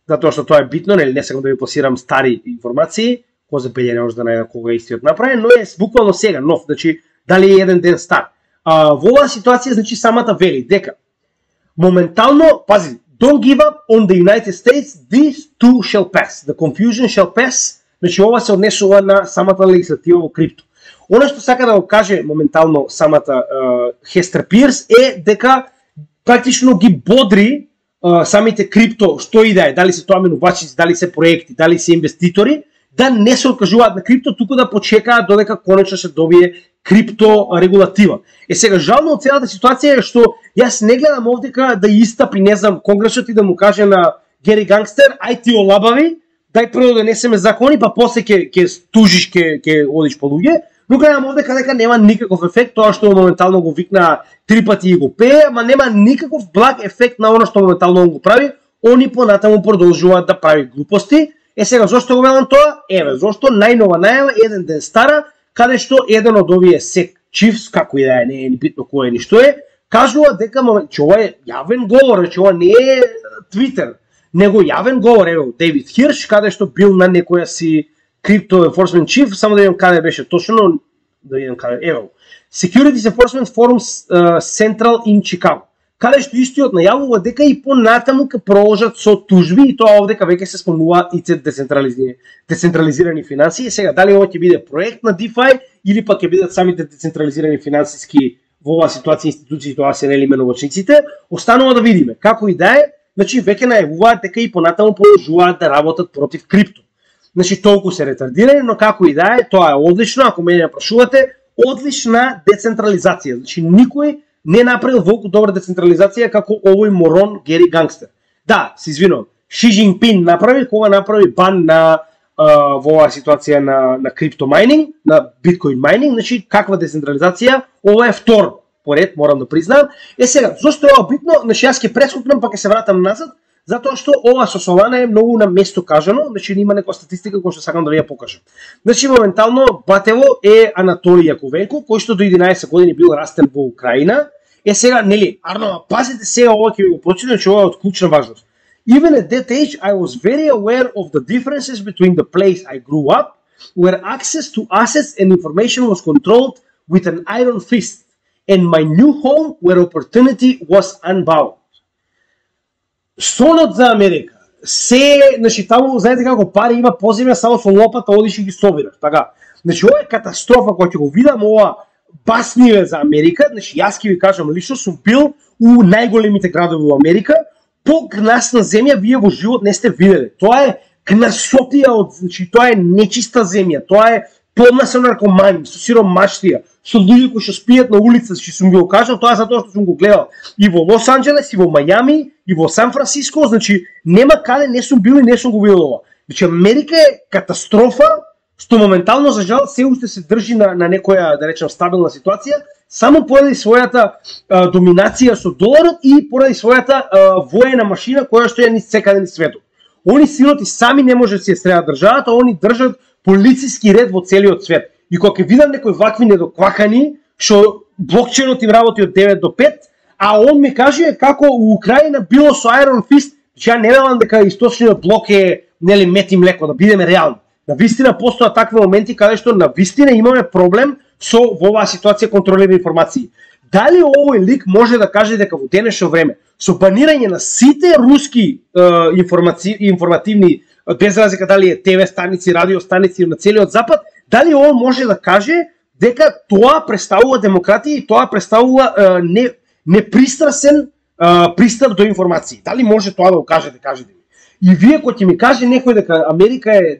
затоа што тоа е битно, нели не сакам да ви пласирам стари информации, кој за пељене може да најде кога е истиот направен, но е буквално сега нов, значи дали е еден ден стар. во оваа ситуација, значи, самата вели дека моментално, пази, don't give up on the United States, this too shall pass. The confusion shall pass. Значи, ова се однесува на самата легислатива во крипто. Оно што сака да го каже моментално самата Хестер Пирс е дека практично ги бодри самите крипто, што и да е, дали се тоа менувачици, дали се проекти, дали се инвеститори, да не се откажуваат на крипто, туку да почекаат додека конечно се добие крипто регулатива. Сега, жално од целата ситуација е што јас не гледам овдека да истапи, не знам, Конгресот и да му каже на Гери Гангстер, ај ти олабави, дај прво да несеме закони, па после ќе тужиш, ќе одиш по луѓе, но гледам овдека дека нема никаков ефект, тоа што моментално го викна 3 пати и го пее, ама нема никаков благ ефект на оно што моментално он го прави, они понатаму продолжуваат да прави глупости. Сега, зошто го велам тоа? Еве, зошто најнова најава, еден ден стара, каде што еден од овие SEC chiefs, како и да е, не е ни битно кој е ни што е, кажува дека че ова е јавен говор, че ова не е Twitter, него јавен говор, ево, Дейвид Хирш, каде што бил на некоја си Crypto Enforcement Chief, само да видам каде беше точно, да видам каде, ево, Securities Enforcement Forum Central in Chicago, каде што истиот најавува дека и понатаму ќе продолжат со тужби и тоа овдека веќе се спомнува и децентрализирани финансии. Сега, дали ова ќе биде проект на DeFi или пак ќе бидат самите децентрализирани финансиски во оваа ситуација институции, тоа се нели менувачниците, останува да видиме. Како и да е, значи веќе најавуваат дека и понатаму продолжуваат да работат против крипто. Значи толку се ретардирани, но како и да е, тоа е одлично, ако мене прашувате, одлична децентрализација. Значи никој не направил волку добра децентрализација како овој морон Гери Гангстер. Да, се извинувам, Ши Џинпин направи кога направи бан на во оваа ситуација на крипто майнинг, на биткоин майнинг, значи каква децентрализација, ова е втор поред, морам да признам. Сега, зошто е ова битно? Значи јас ќе прескокнам, па ќе се вратам назад, затоа што ова со Солана е многу на место кажано, значи има некоја статистика која што сакам да ви ја покажам. Значи моментално батево е Анатолий Јаковенко, кој што до 11 години бил растен во Украина. Сега, нели, Арнова, пазите сега ова ќе ви го прочитам, че ова е од клучна важност. Even at that age, I was very aware of the differences between the place I grew up, where access to assets and information was controlled with an iron fist, and my new home where opportunity was unbound. Сонот за Америка. Значи, таму, знаете како пари има поземја, само со лопата одиш и ги собираш, така. Значи, ова е катастрофа која ќе го видам, ова басниве за Америка. Значи, јас ќе ви кажам, лично сум бил у најголемите градови во Америка, по-гнасна земја вие во живот не сте виделе. Тоа е гнасотија значи, тоа е нечиста земја, тоа е полна со наркомани, со сиромаштија, со луѓе кои што спијат на улица, што сум го кажал, тоа затоа што сум го гледал и во Лос Анџелес, и во Мајами, и во Сан Франциско, значи нема каде не сум бил и не сум го видел ова. Значи Америка е катастрофа, што моментално за жал се уште се држи на некоја, да речем, стабилна ситуација, само поради својата доминација со доларот и поради својата воена машина која што е низ секаде низ светот. Они сироти сами не може да си ја среда државата, они држат полициски ред во целиот свет. И кога ќе видам некои вакви недоквакани, што блокчейнот им работи од 9 до 5, а он ми каже како у Украина било со Iron Fist, че ја не велам дека источниот блок е нели мет и млеко, да бидеме реални. На вистина постојат такви моменти каде што на вистина имаме проблем со во оваа ситуација контролирани информации. Дали овој лик може да каже дека во денешно време со банирање на сите руски информативни, без разлика дали е ТВ станици, радио станици на целиот запад, дали он може да каже дека тоа представува демократија и тоа представува непристрасен пристап до информации? Дали може тоа да го кажете, кажете ми. И вие кој ќе ми каже некој дека Америка е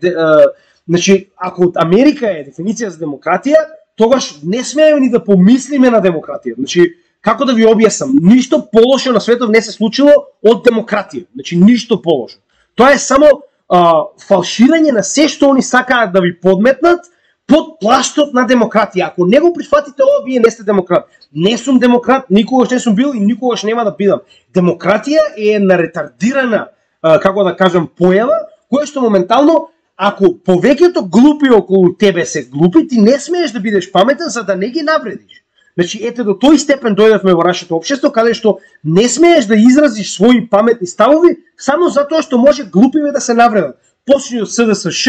значи ако Америка е дефиниција за демократија, тогаш не смееме ни да помислиме на демократија. Значи како да ви објаснам, ништо полошо на светот не се случило од демократија. Значи ништо полошо. Тоа е само фалширање на се што они сакаат да ви подметнат под плаштот на демократија. Ако не го прифатите ова, вие не сте демократ. Не сум демократ, никогаш не сум бил и никогаш нема да бидам. Демократија е една ретардирана, како да кажам, појава, која што моментално, ако повеќето глупи околу тебе се глупи, ти не смееш да бидеш паметен за да не ги навредиш. Значи, ете до тој степен дојдевме во нашето општество, каде што не смееш да изразиш своји паметни ставови, само затоа што може глупиве да се навредат. Почни од СДСШ,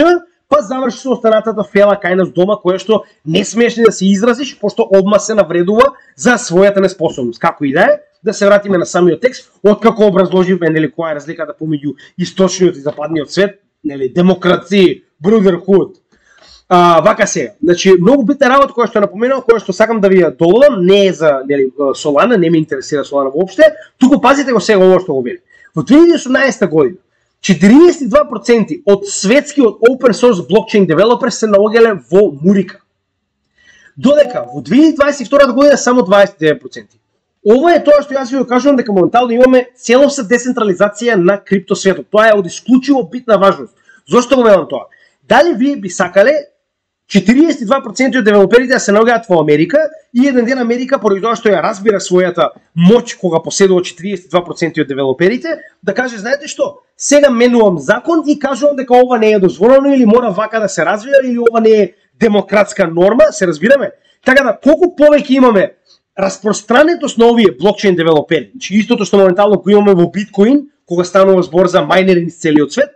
па заврши со останатата фела кај нас дома, која што не смееш ни да се изразиш, пошто одма се навредува за својата неспособност. Како и да се вратиме на самиот текст, откако образложивме нели која е разликата помеѓу источниот и западниот свет, нели демокрација, brotherhood. Вака сега, значи многу битна работа која што напоменав, која што сакам да ви ја доводам, не е за нели Solana, не ме интересира Solana воопште, туку пазите го сега ово што го вели. Во 2018 година 42% од светскиот open source blockchain developers се наоѓале во Мурика. Додека во 2022 година само 29%. Ова е тоа што јас ви го кажувам, дека моментално имаме целосна децентрализација на криптосветот. Тоа е од исклучиво битна важност. Зошто го велам тоа? Дали вие би сакале 42% од девелоперите да се наоѓаат во Америка и еден ден Америка, поради тоа што ја разбира својата моќ кога поседува 42% од девелоперите, да каже, знаете што, сега менувам закон и кажувам дека ова не е дозволено или мора вака да се развива или ова не е демократска норма, се разбираме? Така да, колку повеќе имаме распространетост на овие блокчейн девелопери, значи истото што моментално го имаме во биткоин, кога станува збор за мајнери низ целиот свет,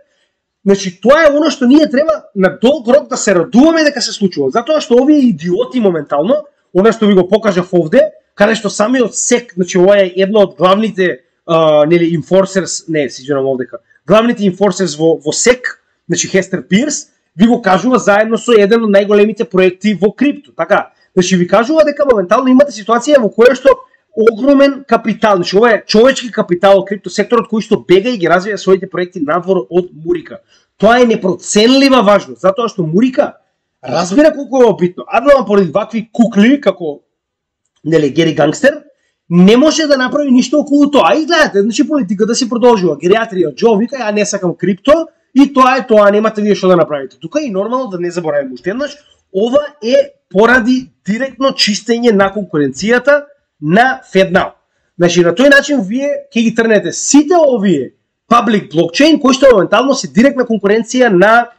значи тоа е оно што ние треба на долг рок да се радуваме дека се случува, затоа што овие идиоти моментално, она што ви го покажав овде, каде што самиот SEC, значи ова е едно од главните нели enforcers, не, се извинувам овдека, главните enforcers во SEC, значи Хестер Пирс, ви го кажува заедно со еден од најголемите проекти во крипто, така. Значи ви кажува дека моментално имате ситуација во која што огромен капитал, значи ова е човечки капитал од криптосекторот кој што бега и ги развива своите проекти надвор од Мурика. Тоа е непроценлива важност, затоа што Мурика разбира колку е битно. Адвам поради вакви кукли како нели Гери Гангстер не може да направи ништо околу тоа. И гледате, значи политиката си продолжува. Гериатрија Џо вика, ја не сакам крипто и тоа е тоа, немате вие што да направите. Тука и нормално да не забораваме уште еднаш, ова е поради директно чистење на конкуренцијата на FedNow. Значи на тој начин вие ќе ги трнете сите овие public blockchain кои што моментално се директна конкуренција на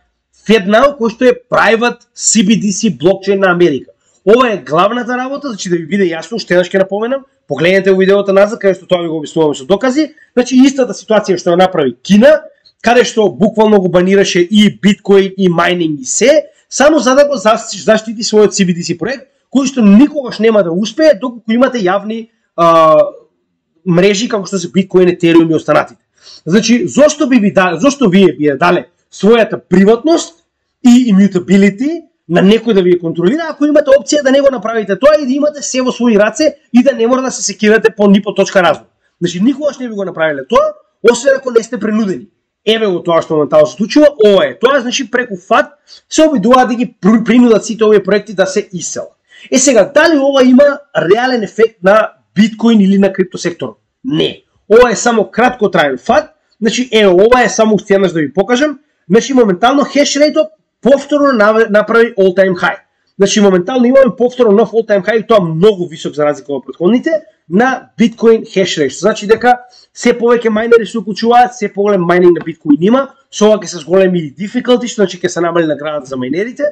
FedNow кој што е private CBDC блокчейн на Америка. Ова е главната работа, значи да ви биде јасно, уште еднаш ќе напоменам, погледнете во видеото назад каде што тоа ви го објаснуваме со докази, значи истата ситуација што ја направи Кина, каде што буквално го банираше и биткоин и майнинг и се, само за да го заштити својот CBDC проект, кој што никогаш нема да успее доколку имате јавни мрежи како што се биткоин, етериум и останатите. Значи, зошто вие би ја дале својата приватност и immutability на некој да ви ја контролира, ако имате опција да не го направите тоа и да имате се во своји раце и да не мора да се секирате по ни по точка разум. Значи, никогаш не би го направиле тоа, освен ако не сте принудени. Еве го тоа што моментално се случува, ова е. Тоа значи преку ФАТ се обидуваат да ги принудат сите овие проекти да се иселат. Сега, дали ова има реален ефект на биткоин или на криптосекторот? Не. Ова е само краткотраен ФАТ. Значи, ова е само уште еднаш да ви покажам. Значи, моментално хешрейтот повторно направи all time high. Значи, моментално имаме повторно нов all time high и тоа многу висок за разлика од претходните на биткоин хешрейт. Значи дека се повеќе мајнери се уклучуваат, се поголем мајнинг на биткоин има, со ова ќе се зголеми difficulty, значи ќе се намали наградата за мајнерите.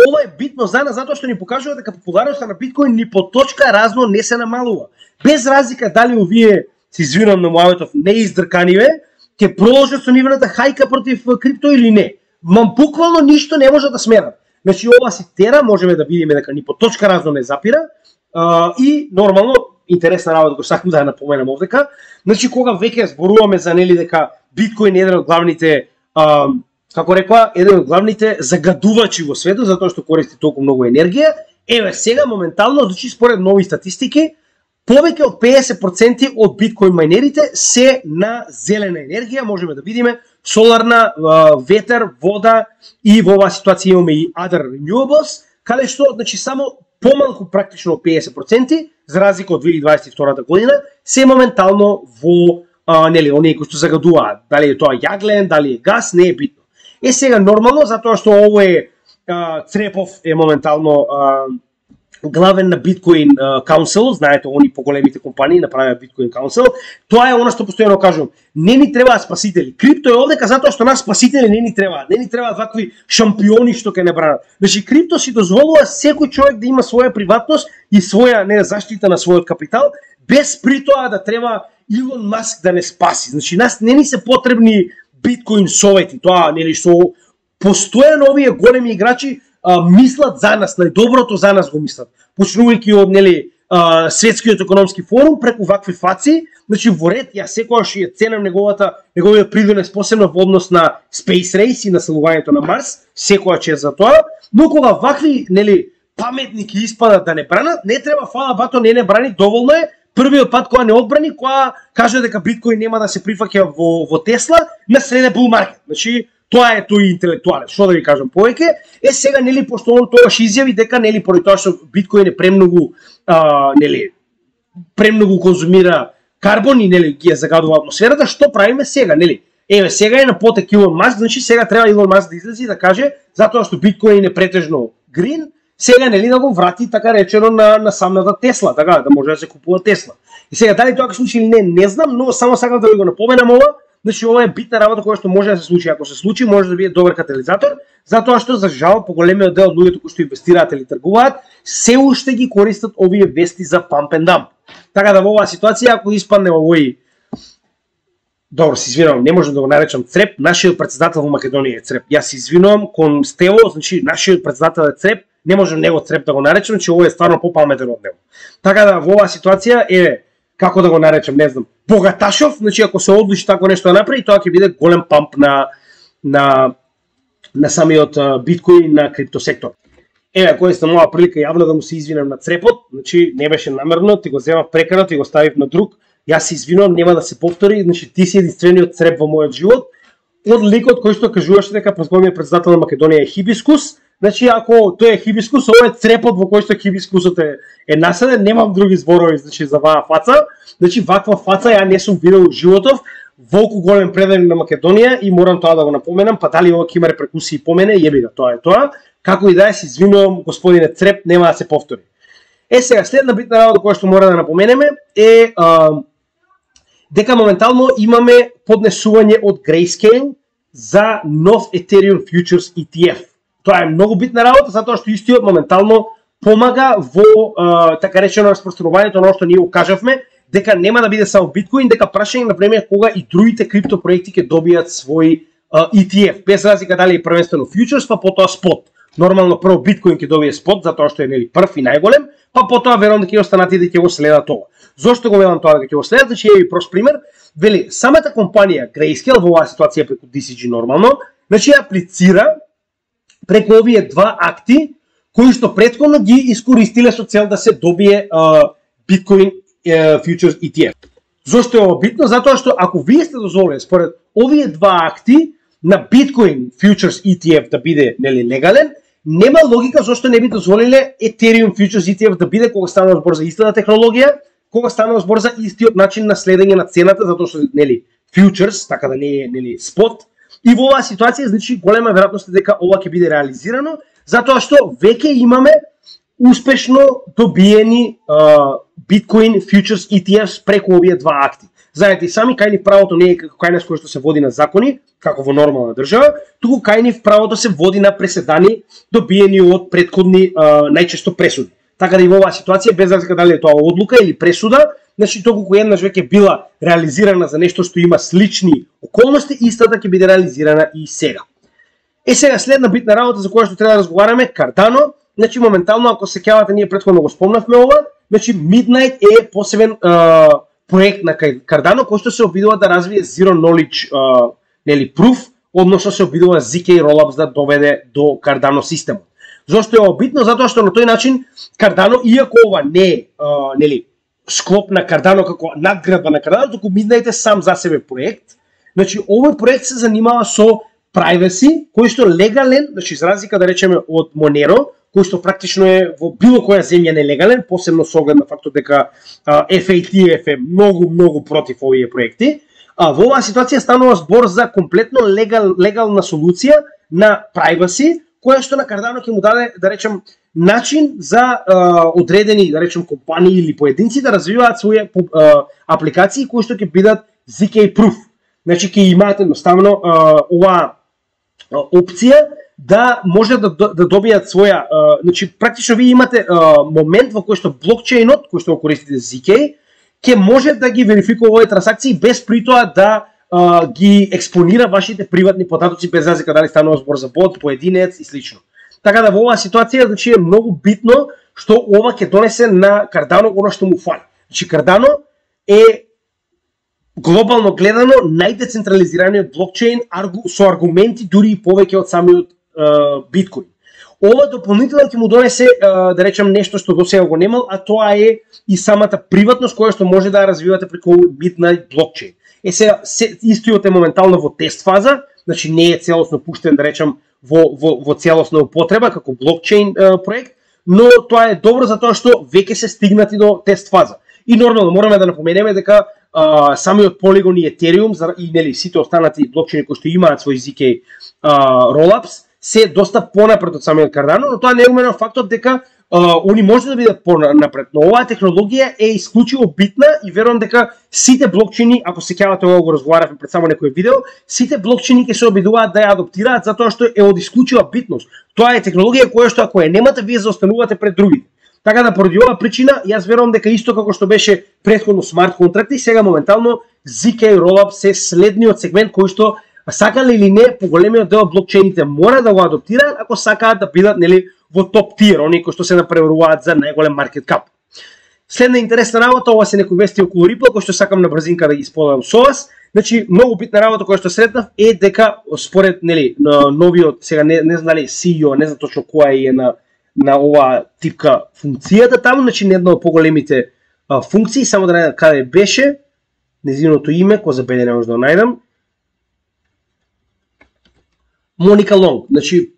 Ова е битно за нас затоа што ни покажува дека популярноста на биткоин ни по точка разно не се намалува. Без разлика дали овие, се извинувам на мојавето, неиздрканиве, ќе продолжат со нивната хајка против крипто или не. Буквално ништо не може да сменат. Значи ова се тера, можеме да видиме дека ни по точка разно не запира и нормално интересна работа која сакам да ја напоменам овдека. Значи кога веќе зборуваме за нели дека биткоин е еден од главните како рекла, еден од главните загадувачи во светот затоа што користи толку многу енергија, еве сега моментално, значи според нови статистики, повеќе од 50% од биткоин мајнерите се на зелена енергија, можеме да видиме соларна, ветер, вода и во оваа ситуација имаме и other renewables, каде што значи само помалку практично од 50%, за разлика од 2022 година, се моментално во нели оние кои што загадуваат, дали е тоа јаглен, дали е газ, не е битно. Сега нормално затоа што ово е Црепов е моментално главен на Bitcoin Council, знаете, они поголемите компании направија Bitcoin Council. Тоа е она што постојано кажувам. Не ни требаат спасители. Крипто е овдека затоа што нас спасители не ни требаат. Не ни требаат вакви шампиони што ќе не бранат. Значи крипто си дозволува секој човек да има своја приватност и своја заштита на својот капитал, без при тоа да треба Илон Маск да не спаси. Значи нас не ни се потребни биткоин совети, тоа нели што постојано овие големи играчи мислат за нас, најдоброто за нас го мислат. Почнувајќи од светскиот економски форум преку вакви фаци, значи во ред ја секогаш ја ценам неговиот придонес посебно во однос на Space Race и населувањето на Марс, секогаш е за тоа, но кога вакви паметники испадат да не бранат, не треба фала бато не брани, доволно е првиот пат кога не одбрани, кога каже дека биткоин нема да се прифаќа во Тесла, наследе бул маркет. Значи тоа е тој интелектуален. Што да ви кажам повеќе? Сега пошто он тогаш изјави дека поради тоа што биткоин е премногу конзумира карбон и ги загадува атмосферата, што правиме сега, сега е на потек Илон Маск, значи сега треба Илон Маск да излезе и да каже затоа што биткоин е претежно грин, сега да го врати така речено на самата Тесла, така да може да се купува Тесла. И сега дали тоа ќе случи или не знам, но само сакам да ви го напоменам ова. Значи ова е битна работа која што може да се случи. Ако се случи, може да биде добар катализатор, затоа што за жал поголемиот дел од луѓето кои што инвестираат или тргуваат, се уште ги користат овие вести за pump and dump. Така да во оваа ситуација ако испадне овој добро, се извинувам, не можам да го наречам цреп, нашиот претседател во Македонија е цреп. Јас се извинувам кон Стево, значи нашиот претседател е цреп, не можам него цреп да го наречам, че овој е стварно попаметен од него. Така да во оваа ситуација е како да го наречам, не знам, богаташов, значи ако се одлучи тако нешто да направи, тоа ќе биде голем памп на самиот биткоин на криптосектор. Еве, користам оваа прилика јавно да му се извинам на црепот, значи не беше намерно, ти го земав прекарно, ти го ставив на друг. Јас се извинувам, нема да се повтори, значи ти си единствениот цреп во мојот живот. Од ликот кој што кажуваше дека претходниот претседател на Македонија е хибискус, значи ако тој е хибискус, ова е црепот во кој што хибискусот е насаден, немам други зборови значи за ваа фаца. Значи ваква фаца ја не сум видел во животов, волку голем преданик на Македонија и морам тоа да го напоменам, па дали ова ќе има репрекусии по мене, јеби го, тоа е тоа. Како и да е, се извинувам господине цреп, нема да се повтори. Сега следна битна работа која што мора да напоменеме е дека моментално имаме поднесување од Grayscale за нов Ethereum Futures ETF. Тоа е многу битна работа, затоа што истиот моментално помага во така речено распространувањето на што ние го кажавме, дека нема да биде само биткоин, дека прашање на време кога и другите криптопроекти ќе добијат свој ETF, без разлика дали е првенствено futures, па потоа spot. Нормално прво биткоин ќе добие спот затоа што е прв и најголем, па потоа верувам дека и останатите ќе го следат тоа. Зошто го велам тоа дека ќе го следат? Значи е прост пример, вели самата компанија Grayscale во оваа ситуација преку DCG нормално, значи аплицира преку овие два акти кои што претходно ги искористиле со цел да се добие биткоин Futures ETF. Зошто е ова битно? Затоа што ако вие сте дозволени според овие два акти на Bitcoin Futures ETF да биде легален, нема логика зашто не би дозволиле Ethereum Futures ETF да биде кога станува збор за истата технологија, кога станува збор за истиот начин на следење на цената, затоа што futures, така да не е спот. И во оваа ситуација значи голема веројатност дека ова ќе биде реализирано, затоа што веќе имаме успешно добиени Bitcoin Futures ETFs преку овие два акти. Знаете и сами, кај нив правото не е како кај нас кој што се води на закони, како во нормална држава, туку кај нив правото се води на преседани добиени од претходни најчесто пресуди. Така да и во оваа ситуација, без разлика дали е тоа одлука или пресуда, значи доколку еднаш веќе била реализирана за нешто што има слични околности, истата ќе биде реализирана и сега. Сега следна битна работа за која што треба да разговараме, Cardano. Значи моментално ако се сеќавате, ние претходно го спомнавме ова, значи Midnight е посебен проект на Cardano кој што се обидува да развие Zero Knowledge Proof, односно се обидува ZK Rollups да доведе до Cardano системот. Зошто е ова битно? Затоа што на тој начин Cardano, иако ова не е склоп на Cardano како надградба на Cardano, туку Midnight е сам за себе проект. Значи овој проект се занимава со privacy, кој што легален, значи за разлика да речеме од Monero, кој што практично е во било која земја нелегален, посебно со оглед на фактот дека FATF е многу против овие проекти. Во оваа ситуација станува збор за комплетно легална солуција на privacy, која што на Cardano ќе му даде, да речем, начин за одредени, да речем, компании или поединци да развиваат своји апликации кои што ќе бидат ZK Proof. Значи ќе имаат едноставно оваа опција да може да добијат своја, значи практично вие имате момент во кој што блокчейнот, кој што го користите ZK, ќе може да ги верификува овие трансакции без при тоа да ги експонира вашите приватни податоци без разлика дали станува збор за бот, поединец и слично. Така да во оваа ситуација значи е многу битно што ова ќе донесе на Cardano оно што му фали. Значи Cardano е глобално гледано најдецентрализираниот блокчейн со аргументи дури и повеќе од самиот биткоин. Ова дополнително ќе му донесе да речем нешто што досега го немал, а тоа е и самата приватност која што може да ја развивате преку битна блокчейн. Сега истиот е моментално во тест фаза, значи не е целосно пуштен да речем во целосна употреба како блокчейн проект, но тоа е добро затоа што веќе се стигнати до тест фаза. И нормално мораме да напоменеме дека самиот Polygon и Ethereum и нели сите останати блокчейни кои што имаат свој ZK rollups се доста понапред од самиот Cardano, но тоа не е умено фактот дека они може да бидат понапред. Но оваа технологија е исклучиво битна и верувам дека сите блокчейни, ако се сеќавате ова го разговаравме пред само некој видео, сите блокчейни ќе се обидуваат да ја адаптираат затоа што е од исклучива битност. Тоа е технологија која што ако ја немате вие заостанувате пред другите. Така да поради оваа причина јас верувам дека исто како што беше претходно смарт контракти, сега моментално ZK Rollup е следниот сегмент кој што сакале или не, поголемиот дел од блокчейните мора да го адаптираат ако сакаат да бидат нели во топ тир, оние кои што се напреваруваат за најголем маркет кап. Следна интересна работа, ова се некои вести околу Ripple кои што сакам на брзинка да ги споделам со вас. Значи многу битна работа која што сретнав е дека според нели новиот, сега не знам дали CEO, не знам точно која е на оваа типка функцијата таму, значи не една од поголемите функции, само да најдам каде беше нејзиното име, кој забеде не може да го најдам. Моника Лонг, значи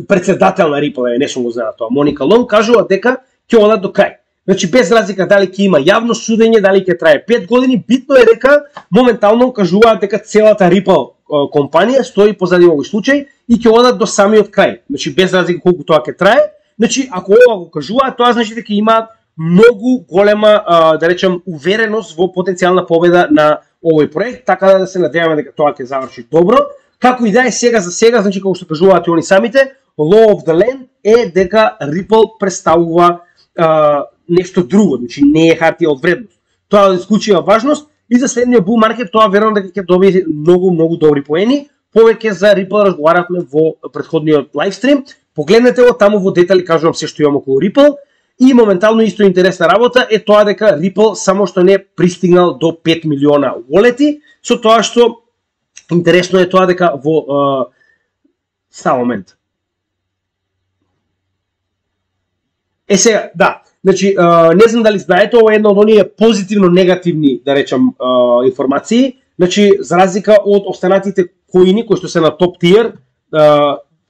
председател на Ripple, не сум го знаел тоа. Моника Лонг кажува дека ќе одат до крај. Значи без разлика дали ќе има јавно судење, дали ќе трае 5 години, битно е дека моментално кажуваат дека целата Ripple компанија стои позади овој случај и ќе одат до самиот крај. Значи без разлика колку тоа ќе трае. Значи ако ова го кажуваат, тоа значи дека имаат многу голема да речем увереност во потенцијална победа на овој проект, така да се надеваме дека тоа ќе заврши добро. Како и да е сега за сега, значи како што кажуваат и они самите, law of the land е дека Ripple представува нешто друго, значи не е хартија од вредност. Тоа е исклучива важност и за следниот bull market тоа верувам дека ќе добие многу добри поени. Повеќе за Ripple разговаравме во претходниот лайвстрим. Погледнете го таму во детали, кажувам се што имам околу Ripple. И моментално исто интересна работа е тоа дека Ripple само што не пристигнал до 5 милиона wallet-и, со тоа што интересно е тоа дека во само момент. Сега, да, значи не знам дали знаете, ова е една од оние позитивно негативни, да речам, информации. Значи за разлика од останатите коини кои што се на топ тир,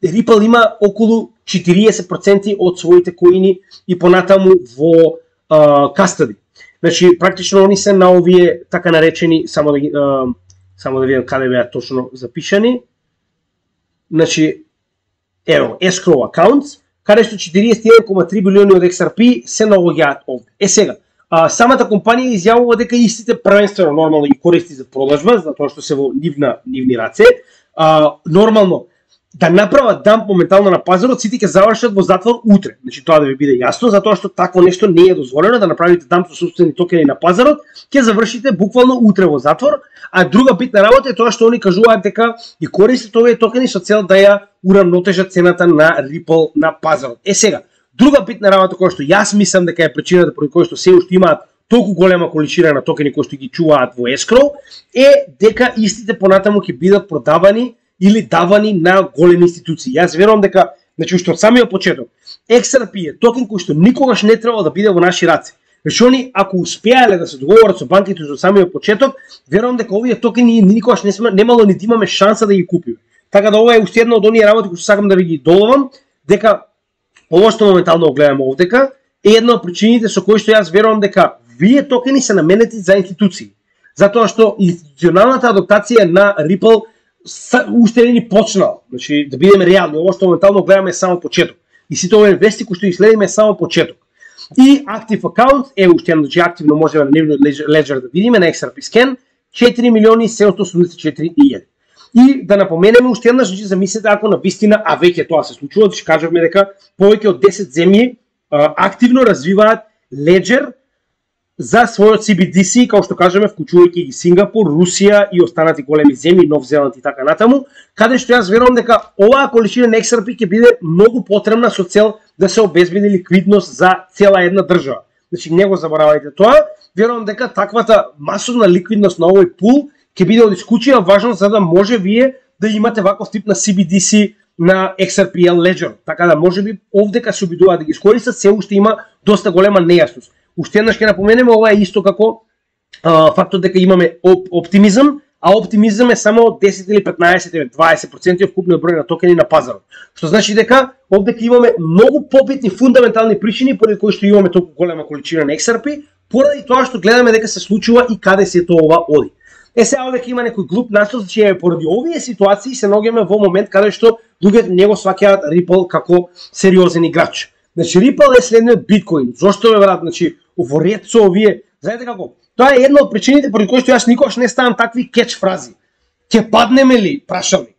Ripple има околу 40% од своите коини и понатаму во кастади. Значи практично они се на овие така наречени, само да видам каде беа точно запишани. Значи ево, escrow accounts, каде што 41,3 билиони од XRP се наоѓаат овде. Сега, самата компанија изјавува дека истите првенствено нормално ги користи за продажба, затоа што се во нивни раце. Нормално да направат дамп моментално на пазарот, сите ќе завршат во затвор утре. Значи тоа да ви биде јасно, затоа што такво нешто не е дозволено, да направите дамп со сопствени токени на пазарот, ќе завршите буквално утре во затвор. А друга битна работа е тоа што они кажуваат дека и користат овие токени со цел да ја урамнотежат цената на Ripple на пазарот. Сега, друга битна работа која што јас мислам дека е причината поради која што се уште имаат толку голема количина на токени кои што ги чуваат во escrow, е дека истите понатаму ќе бидат продавани или давани на големи институции. Јас верувам дека, значи уште од самиот почеток, XRP е токен кој што никогаш не требало да биде во наши раце. Значи они ако успеале да се договорат со банките од самиот почеток, верувам дека овие токени никогаш немало ни да имаме шанса да ги купиме. Така да ова е уште една од оние работи кои што сакам да ви ги доловам, дека ова што моментално гледаме овдека е една од причините со кои што јас верувам дека вие токени се наменети за институции. Затоа што институционалната адаптација на Ripple уште не ни почнал. Значи да бидеме реални, ова што моментално гледаме е само почеток. И сите овие вести кои што ги следиме е само почеток. И Active Account е уште едно, значи активно можеме на нивниот Ledger да видиме на XRP Scan 4.784.000. И да напоменеме уште еднаш, значи замислете ако на вистина, а веќе тоа се случува, значи кажавме дека повеќе од 10 земји активно развиваат Ledger за својот CBDC, како што кажеме, вклучувајќи ги Сингапур, Русија и останати големи земји, Нов Зеланд и така натаму, каде што јас верувам дека оваа количина на XRP ќе биде многу потребна со цел да се обезбеди ликвидност за цела една држава. Значи не го заборавајте тоа, верувам дека таквата масовна ликвидност на овој пул ќе биде од исклучива важност за да може вие да имате ваков тип на CBDC на XRP Ledger. Така да можеби овдека се обидуваат да ги искористат, се уште има доста голема нејасност. Уште еднаш ќе напоменеме, ова е исто како фактот дека имаме оптимизам, а оптимизам е само 10 или 15 или 20% од вкупниот број на токени на пазарот. Што значи дека овдека имаме многу побитни фундаментални причини поради кои што имаме толку голема количина на XRP, поради тоа што гледаме дека се случува и каде се тоа ова оди. Сега овдека има некој глуп наслов, че поради овие ситуации се наоѓаме во момент каде што луѓето не го сваќаат Ripple како сериозен играч. Значи Ripple е следниот биткоин. Зошто бе брат? Значи во ред со овие, знаете како? Тоа е една од причините поради кои што јас никогаш не ставам такви кетч фрази. Ќе паднеме ли прашалник?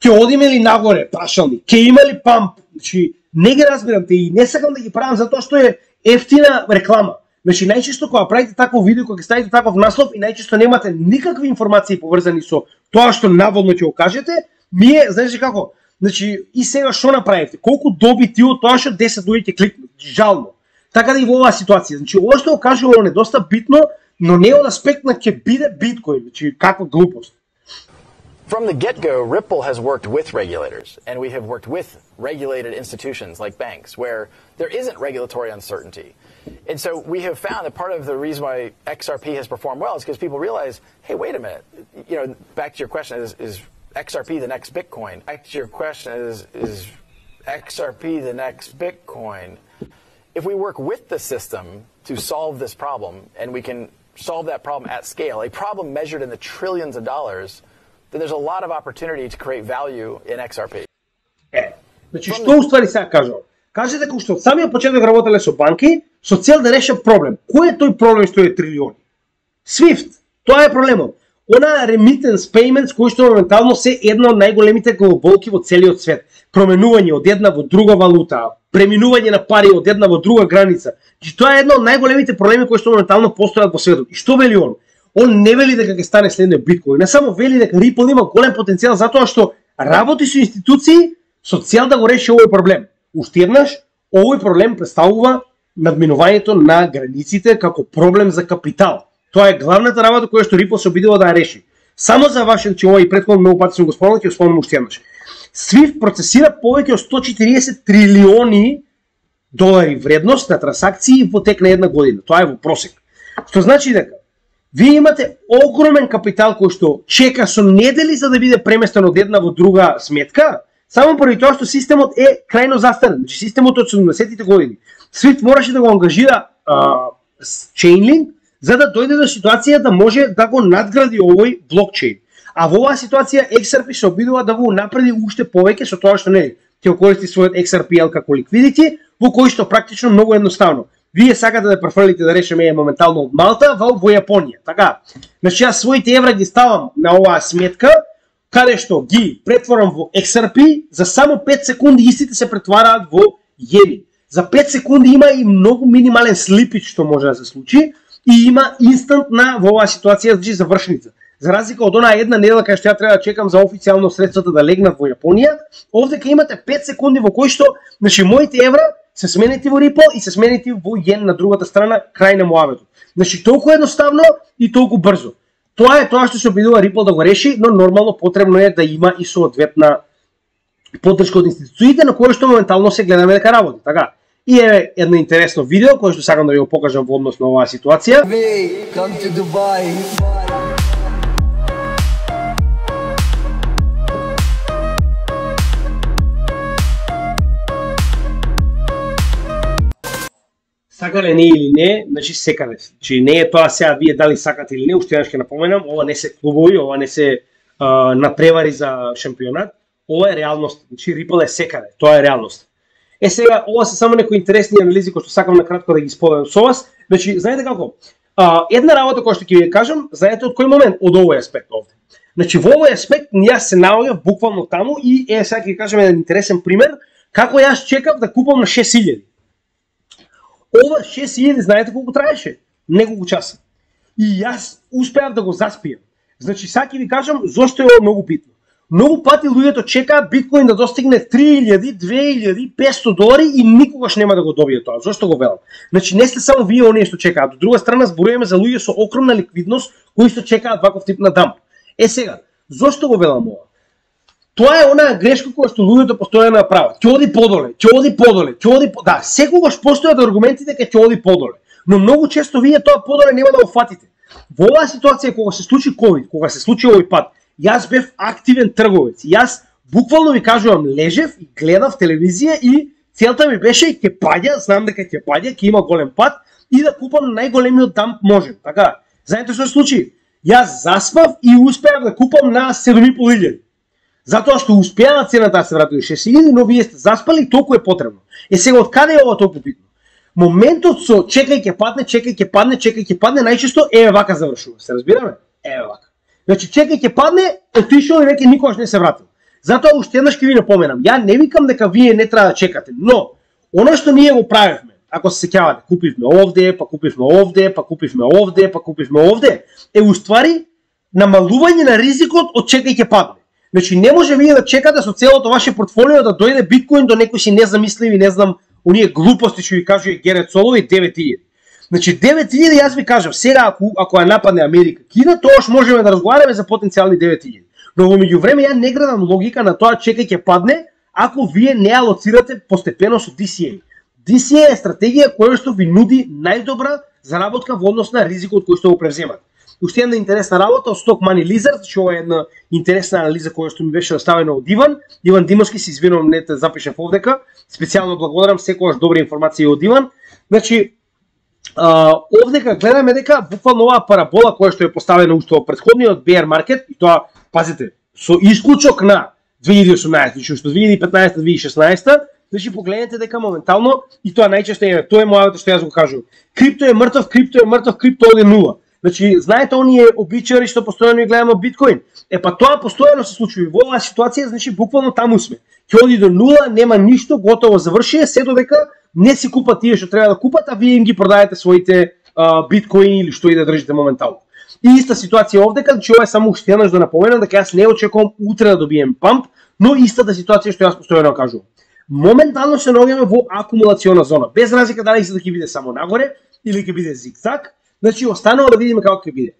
Ќе одиме ли нагоре прашалник? Ќе има ли памп? Значи не ги разбирам те и не сакам да ги правам затоа што е ефтина реклама. Значи најчесто кога правите такво видео, кога ќе ставите таков наслов и најчесто немате никакви информации поврзани со тоа што наводно ќе го кажете, ние, знаеш како? Значи и сега што направите? Колку добити од тоа што 10 луѓе ќе кликнат? Жално. Така да и во оваа ситуација. Значи ова што го кажувам е доста битно, но не од аспект на ќе биде биткоин. Значи каква глупост. From the get-go, Ripple has worked with regulators, and we have worked with regulated institutions like banks, where there isn't regulatory uncertainty. And so we have found that part of the reason why XRP has performed well is because people realize, hey, wait a minute, you know, back to your question, is XRP the next Bitcoin? Back to your question, is XRP the next Bitcoin? If we work with the system to solve this problem, and we can solve that problem at scale, a problem measured in the trillions of dollars, then there's a lot of opportunity to create value in XRP. Значи што уствари сега кажувам? Каже дека уште од самиот почеток работеле со банки со цел да решат проблем. Кој е тој проблем што е трилиони? SWIFT, тоа е проблемот. Она remittance payments кои што моментално се една од најголемите глобалки во целиот свет. Променување од една во друга валута, преминување на пари од една во друга граница. Значи тоа е една од најголемите проблеми кои што моментално постојат во светот. И што вели он? Он не вели дека ќе стане следниот биткоин, не само вели дека Ripple има голем потенцијал затоа што работи со институции со цел да го реши овој проблем. Уште еднаш, овој проблем представува надминувањето на границите како проблем за капитал. Тоа е главната работа која што Ripple се обидува да ја реши. Само за вашен, че овој претходно многу пати сум го спомнал, ќе го спомнам уште еднаш. SWIFT процесира повеќе од 140 трилиони долари вредност на трансакции во тек на една година. Тоа е во просек. Што значи дека вие имате огромен капитал кој што чека со недели за да биде преместен од една во друга сметка, само поради тоа што системот е крајно застарен. Значи системот од 70-тите години. SWIFT мораше да го ангажира Chainlink за да дојде до ситуација да може да го надгради овој блокчейн. А во оваа ситуација XRP се обидува да го напреди уште повеќе со тоа што не ќе користи својот XRPL како liquidity, во кој што практично многу едноставно. Вие сакате да префрлите да решиме моментално од Малта во Јапонија. Така. Значи јас своите евра ги ставам на оваа сметка, каде што ги претворам во XRP, за само 5 секунди истите се претвараат во јени. За 5 секунди има и многу минимален слипич што може да се случи и има инстантна во оваа ситуација значи завршница. За разлика од онаа една недела кај што ја треба да чекам за официјално средствата да легнат во Јапонија, овдека имате 5 секунди во кои што значи моите евра се сменети во Ripple и се сменети во јен на другата страна крај на муаветот. Значи толку едноставно и толку брзо. Тоа е тоа што се обидува Ripple да го реши, но нормално потребно е да има и соодветна поддршка од институциите на кои што моментално се гледаме дека работи. Така. И е едно интересно видео кое што сакам да ви го покажам во однос на оваа ситуација. Come to Dubai. Сакале не или не, значи секаде. Значи не е тоа сега вие дали сакате или не, уште еднаш ќе напоменам, ова не се клубови, ова не се напревари за шампионат, ова е реалност. Значи Ripple е секаде, тоа е реалност. Сега ова се само некои интересни анализи кои што сакам на кратко да ги споделам со вас. Значи знаете како? Една работа која што ќе ви кажам, знаете од кој момент? Од овој аспект овде. Значи во овој аспект јас се наоѓав буквално таму и сега ќе ви кажам еден интересен пример како јас чекав да купам на 6000. Ова 6000 знаете колку траеше? неколку часа. И јас успеав да го заспием. Значи, саки ви кажам зошто е ова многу битно. Многу пати луѓето чекаат биткоин да достигне 3000, 2000, 500 долари и никогаш нема да го добие тоа. Зошто го велам? Значи, не сте само вие оние што чекаат. Од друга страна, зборуваме за луѓе со огромна ликвидност кои што чекаат ваков тип на дамп. Сега, зошто го велам ова? Тоа е онаа грешка која што луѓето постојано ја прават. Ќе оди подоле, ќе оди подоле, ќе оди подоле. Да, секогаш постојат аргументите дека ќе оди подоле. Но многу често вие тоа подоле нема да го фатите. Во оваа ситуација кога се случи ковид, кога се случи овој пат, јас бев активен трговец. Јас буквално ви кажувам, лежев и гледав телевизија и целта ми беше ќе паѓа, знам дека ќе паѓа, ќе има голем пат и да купам најголемиот дамп можем. Така, знаете што се случи? Јас заспав и успеав да купам на 7.500. Затоа што успеа цената да се врати до 6.000, но вие сте заспали и толку е потребно. Сега од каде е ова толку битно? Моментот со чекај ќе падне, чекај ќе падне, чекај ќе падне, најчесто вака завршува. Се разбираме? Вака. Значи чекај ќе падне, отишол и веќе никогаш не се вратил. Затоа уште еднаш ќе ви напоменам, ја не викам дека вие не треба да чекате, но она што ние го правевме, ако се сеќавате, купивме овде, па купивме овде, па купивме овде, па купивме овде, е уствари намалување на ризикот од чекај ќе падне. Значи не може вие да чекате со целото ваше портфолио да дојде биткоин до некои си незамисливи, не знам, оние глупости што ви кажува Герет Солови 9000. Значи 9000 јас ви кажав, сега ако ја нападне Америка, Кина, тоаш можеме да разговараме за потенцијални 9000. Но во меѓувреме ја не градам логика на тоа чекај ќе падне, ако вие не алоцирате постепено со DCA. DCA е стратегија која што ви нуди најдобра заработка во однос на ризикот кој што го превземате. Уште една интересна работа од Stock Money Lizard, што е една интересна анализа која што ми беше оставена од Иван Димовски, се извинувам, не те запишав овдека. Специјално благодарам, секогаш добри информации од Иван. Значи, овдека гледаме дека буквално оваа парабола која што е поставена уште во претходниот bear market, и тоа, пазите, со исклучок на 2018, значи што 2015-2016, значи погледнете дека моментално, и тоа најчесто е, тоа е мојавото што јас го кажувам. Крипто е мртов, крипто оде нула. Значи, знаете оние обичари што постојано ја гледаме биткоин? Па тоа постојано се случува. Во оваа ситуација, значи буквално таму сме. Ќе оди до нула, нема ништо, готово заврши, се додека не си купат тие што треба да купат, а вие им ги продаете своите биткоини или што и да држите моментално. И иста ситуација овдека, значи ова е само уште еднаш да напоменам дека јас не очекувам утре да добием памп, но истата ситуација што јас постојано кажувам. Моментално се наоѓаме во акумулациона зона, без разлика дали се да ќе биде само нагоре или ќе биде зигзаг. Значи, останало да видиме како ќе биде.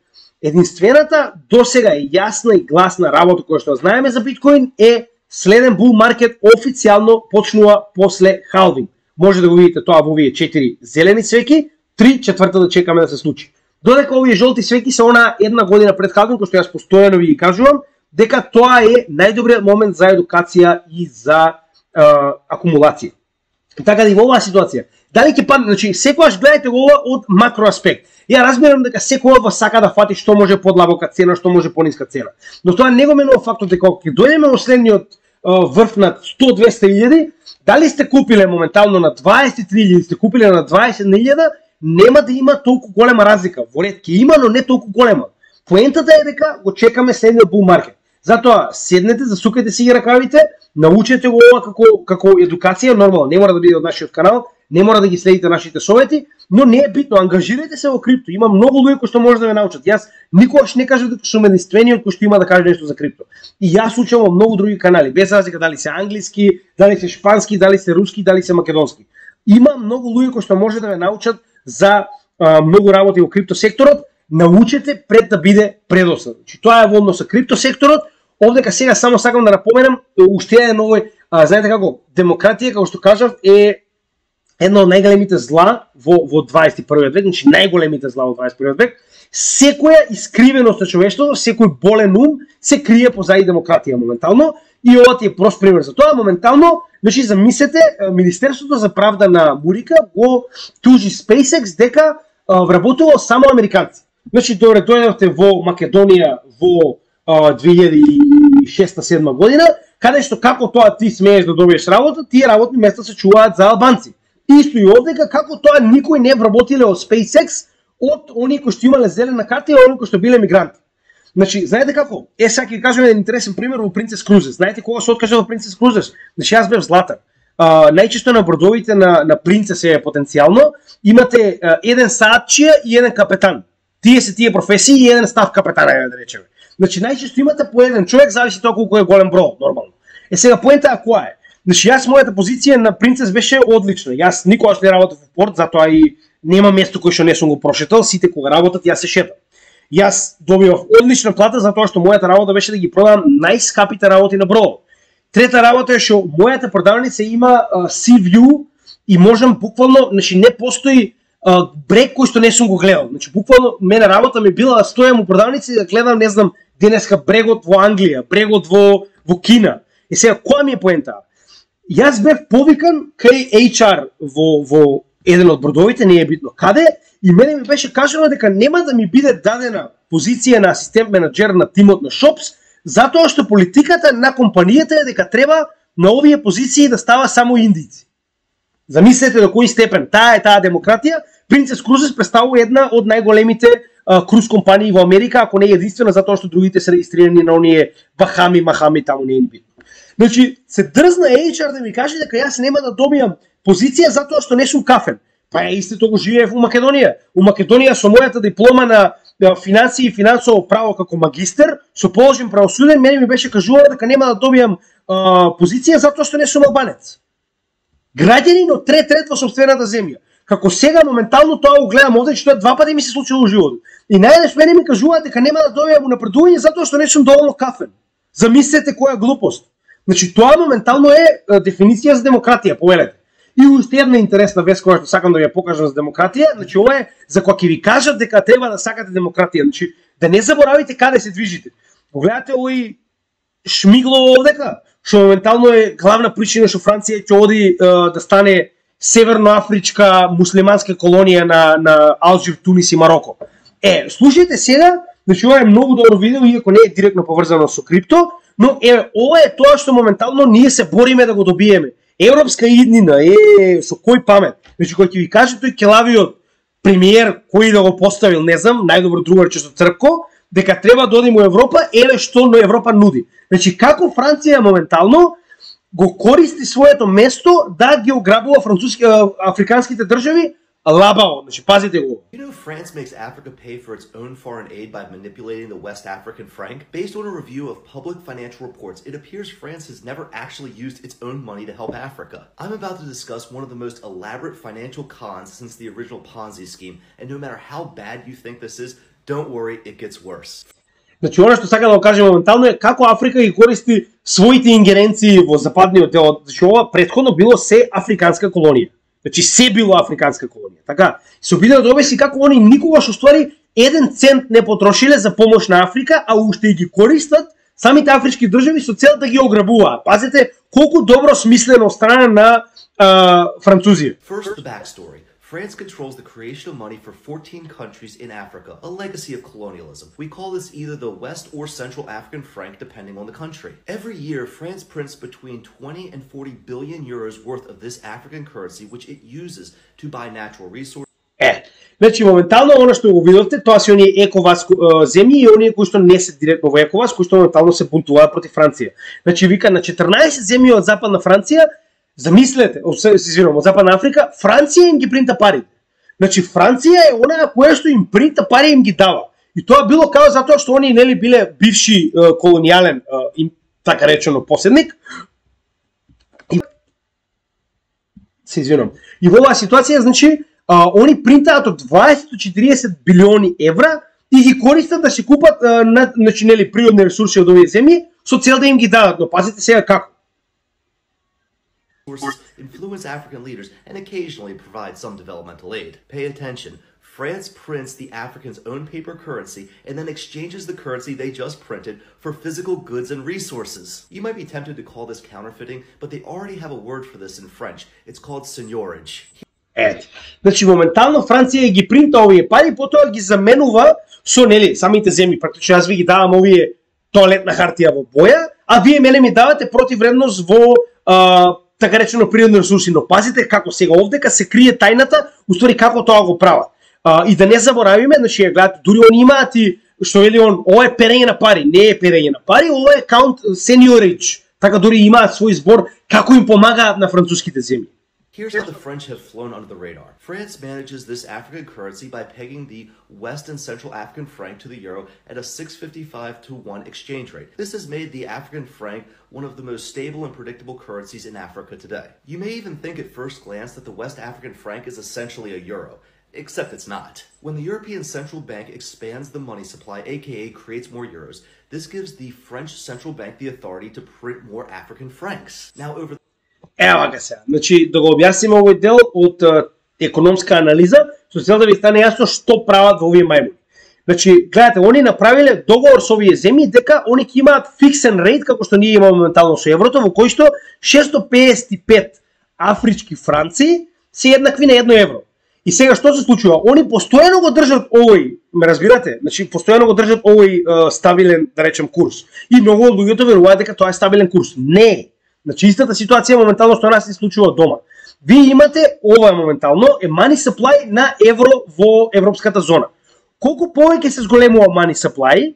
Единствената досега е јасна и гласна работа која што знаеме за биткоин е следен бул маркет официјално почнува после халвинг. Може да го видите тоа во овие 4 зелени свеки, 3/4 да чекаме да се случи. Додека овие жолти свеки се она една година пред халвинг, кој што јас постојано ви кажувам, дека тоа е најдобриот момент за едукација и за акумулација. Така да и во оваа ситуација, дали ќе падне, значи секогаш гледајте го ова од макро аспект. Ја разбирам дека секој од вас сака да фати што може подлабока цена, што може пониска цена. Но тоа не го менува фактот дека кога ќе дојдеме во следниот врв на 100-200 дали сте купиле моментално на 23.000, сте купиле на 20.000, нема да има толку голема разлика. Во ред ќе има, но не толку голема. Поентата е дека го чекаме следниот бул маркет. Затоа седнете, засукајте си ги ракавите, научете го ова како едукација, нормално, не мора да биде од нашиот канал, не мора да ги следите нашите совети, но не е битно, ангажирајте се во крипто. Има многу луѓе кои што може да ве научат. Јас никогаш не кажав дека сум единствениот кој што има да каже нешто за крипто. И јас учам во многу други канали, без разлика дали се англиски, дали се шпански, дали се руски, дали се македонски. Има многу луѓе кои што може да ве научат за многу работи во крипто секторот. Научете пред да биде предосан. Значи тоа е во однос со крипто секторот. Овдека сега само сакам да напоменам уште еден овој, знаете како, демократија, како што кажав, е едно од најголемите зла во 21 век, значи најголемите зла во 21 век. Секоја искривеност на човештвото, секој болен ум се крие позади демократија моментално, и ова ти е прост пример за тоа. Моментално, значи замислете, Министерството за правда на Мурика го тужи SpaceX дека вработувало само американци. Значи дојдовте во Македонија во 2006-2007 година, каде што како тоа ти смееш да добиеш работа, тие работни места се чуваат за албанци. Исто и овдека, како тоа никој не вработиле од SpaceX од оние кои што имале зелена карта и оние кои што биле мигранти. Значи, знаете како? Сега ќе ви кажам еден интересен пример во Princess Cruises. Знаете кога се откажа во Princess Cruises? Значи, јас бев Златан. најчесто на бродовите на принцесе потенцијално имате еден саатчија и еден капетан. Тие се тие професии и еден став капетан, да речеме. Значи најчесто имате по еден човек, зависи тоа колку е голем брод, нормално. Сега поента која е? Значи јас мојата позиција на принцес беше одлична. Јас никогаш не работев во порт, затоа и нема место кој што не сум го прошетал, сите кога работат јас се шетам. Јас добивав одлична плата затоа што мојата работа беше да ги продавам најскапите работи на бродот. Трета работа е што мојата продавница има sea view и можам буквално, значи не постои брег кој што не сум го гледал. Значи буквално мене работа ми била да стојам у продавница и да гледам, не знам, денеска брегот во Англија, брегот во Кина. И сега која ми е поента? Јас бев повикан кај HR во еден од бродовите, не е битно каде, и мене ми беше кажано дека нема да ми биде дадена позиција на асистент менаџер на тимот на Шопс, затоа што политиката на компанијата е дека треба на овие позиции да става само индици. Замислете до кој степен таа демократија. Принцес Крузес представува една од најголемите круз компании во Америка, ако не е единствена, затоа што другите се регистрирани на оние Бахами, Махами, таму не е ни битно. Значи, се дрзна HR да ми каже дека јас нема да добијам позиција затоа што не сум кафен. Па истото го живеев у Македонија. У Македонија со мојата диплома на финансии и финансово право како магистер, со положен правосуден, мене ми беше кажувано дека нема да добијам позиција затоа што не сум албанец. Граѓанин од трет ред во сопствената земја. Како сега моментално тоа го гледам овде, што два пати ми се случило во животот. И најдеш мене ми кажуваат дека нема да добијам напредување затоа што не сум доволно кафен. Замислете која глупост. Значи тоа моментално е дефиниција за демократија, повелете. И уште една интересна вест која што сакам да ви ја покажам за демократија, значи ова е за кога ќе ви кажат дека треба да сакате демократија, значи да не заборавите каде се движите. Погледате овој Шмиглово овдека, што моментално е главна причина што Франција ќе оди да стане северноафричка муслиманска колонија на Алжир, Тунис и Мароко. Слушајте сега, значи ова е многу добро видео, иако не е директно поврзано со крипто, но ова е тоа што моментално ние се бориме да го добиеме. Европска иднина, со кој памет? Значи кој ќе ви каже тој келавиот премиер кој да го поставил, не знам, најдобро другарче со Црпко, дека треба да одиме во Европа, што но Европа нуди. Значи како Франција моментално го користи своето место да ги ограбува африканските држави лабаво. Значи пазите го. You know France makes Africa pay for its own foreign aid by manipulating the West African franc? Based on a review of public financial reports, it appears France has never actually used its own money to help Africa. I'm about to discuss one of the most elaborate financial cons since the original Ponzi scheme, and no matter how bad you think this is, don't worry, it gets worse. Значи, оно што сака да го кажем моментално е како Африка ги користи своите ингеренции во западниот дел. Значи, ова претходно било се африканска колонија. Значи, се било африканска колонија. Така, се обиде да обясни како они никогаш уствари 1 цент не потрошиле за помош на Африка, а уште ги користат самите афрички држави со цел да ги ограбуваат. Пазете колку добро смислено од страна на Французија. First, the backstory. France controls the creation of money for 14 countries in Africa, a legacy of colonialism. We call this either the West or Central African franc, depending on the country. Every year, France prints between 20 and 40 billion euros worth of this African currency, which it uses to buy natural resources. Значи, моментално, оно што го видовте, тоа се оние ековас земји и оние кои што не се директно во ековас, кои што моментално се бунтуваат против Франција. Значи, вика, на 14 земји од Западна Франција, замислете, од Западна Африка, Франција им ги принта пари. Значи, Франција е онаа која што им принта пари и им ги дава. И тоа било као затоа што они нели биле бивши колонијален, така речено, поседник. И во оваа ситуација, значи, они принтаат од 20 до 40 билиони евра и ги користат да се купат значи, нели, природни ресурси од овие земји со цел да им ги дадат. Но пазите сега како. Influence African leaders and occasionally provide some developmental aid. Pay attention. France prints the Africans' own paper currency and then exchanges the currency they just printed for physical goods and resources. You might be tempted to call this counterfeiting, but they already have a word for this in French. It's called seigneurage. Значи моментално Франција ги принта овие пари, потоа ги заменува со нели самите земји. Практично јас ви ги давам овие тоалетна хартија во боја, а вие мене ми давате противвредност во така речено природни ресурси. Но пазите како сега овдека се крие тајната, уствари како тоа го прават. И да не заборавиме, значи гледате, дури они имаат и што вели он, ова е перење на пари, не е перење на пари, ова е count seigneurage. Така дори имаат свој збор како им помагаат на француските земји. Here's how the French have flown under the radar. France manages this African currency by pegging the West and Central African franc to the euro at a 6.55-to-1 exchange rate. This has made the African franc one of the most stable and predictable currencies in Africa today. You may even think at first glance that the West African franc is essentially a euro, except it's not. When the European Central Bank expands the money supply, aka creates more euros, this gives the French Central Bank the authority to print more African francs. Now over Ева га сега. Значи, да го објасниме овој дел од економска анализа, со цел да ви стане јасно што прават во овие мајмуни. Значи, гледате, они направиле договор со овие земји дека они ќе имаат фиксен рейт, како што ние имаме моментално со еврото, во кој што 655 афрички франци се еднакви на 1 евро. И сега што се случува? Они постојано го држат овој, ме разбирате? Значи, постојано го држат овој стабилен, да речем, курс. И многу од луѓето веруваат дека тоа е стабилен курс. Не. Значи, истата ситуација моментално што нас се случува дома. Вие имате, ова моментално, е money supply на евро во европската зона. Колку повеќе се зголемува money supply,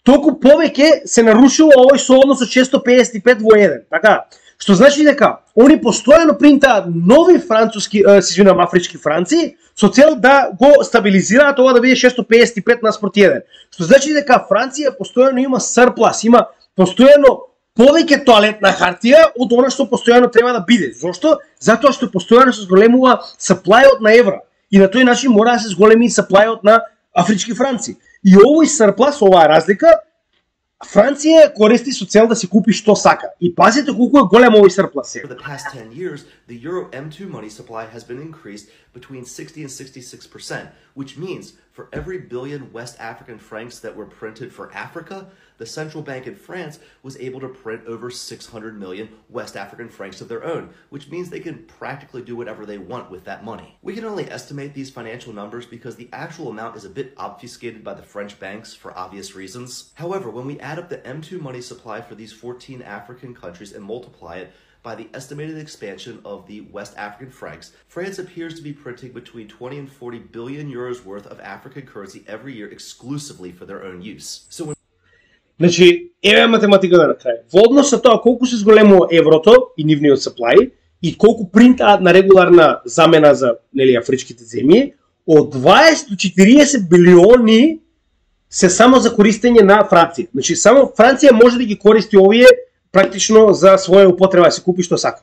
толку повеќе се нарушува овој сооднос од 655 во 1. Така, што значи дека они постојано принтаат нови афрички франци со цел да го стабилизираат ова да биде 655 наспроти 1. Што значи дека Франција постојано има surplus, има постојано повеќе тоалетна хартија од она што постојано треба да биде. Зошто? Затоа што постојано се зголемува саплајот на евра. И на тој начин мора да се зголеми саплајот на афрички франци. И овој surplus, оваа разлика, Франција користи со цел да си купи што сака. И пазите колку е голем овој surplus. For the past 10 years, the Euro M2 money supply has been increased between 60 and 66%, which means for every billion West African francs that were printed for Africa, the central bank in France was able to print over 600 million West African francs of their own, which means they can practically do whatever they want with that money. We can only estimate these financial numbers because the actual amount is a bit obfuscated by the French banks for obvious reasons. However, when we add up the M2 money supply for these 14 African countries and multiply it by the estimated expansion of the West African francs, France appears to be printing between 20 and 40 billion euros worth of African currency every year exclusively for their own use. So when Значи, еве математиката на крај. Во однос со тоа колку се зголемува еврото и нивниот supply и колку принтаат на регуларна замена за, нели, афричките земји, од 20 до 40 билиони се само за користење на Франција. Значи, само Франција може да ги користи овие практично за своја употреба, да се купи што сака.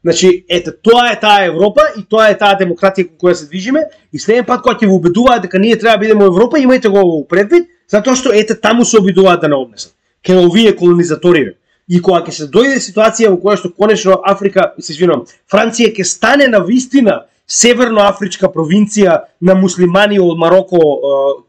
Значи, ете, тоа е таа Европа и тоа е таа демократија кон која се движиме и следен пат кога ќе во убедуваат дека ние треба да бидеме во Европа, имајте го во предвид, затоа што ете таму се обидуваат да не однесат. Ке овие колонизаториве. И кога ќе се дојде ситуација во која што конечно Африка, се извинувам, Франција ќе стане на вистина северноафричка провинција на муслимани од Мароко,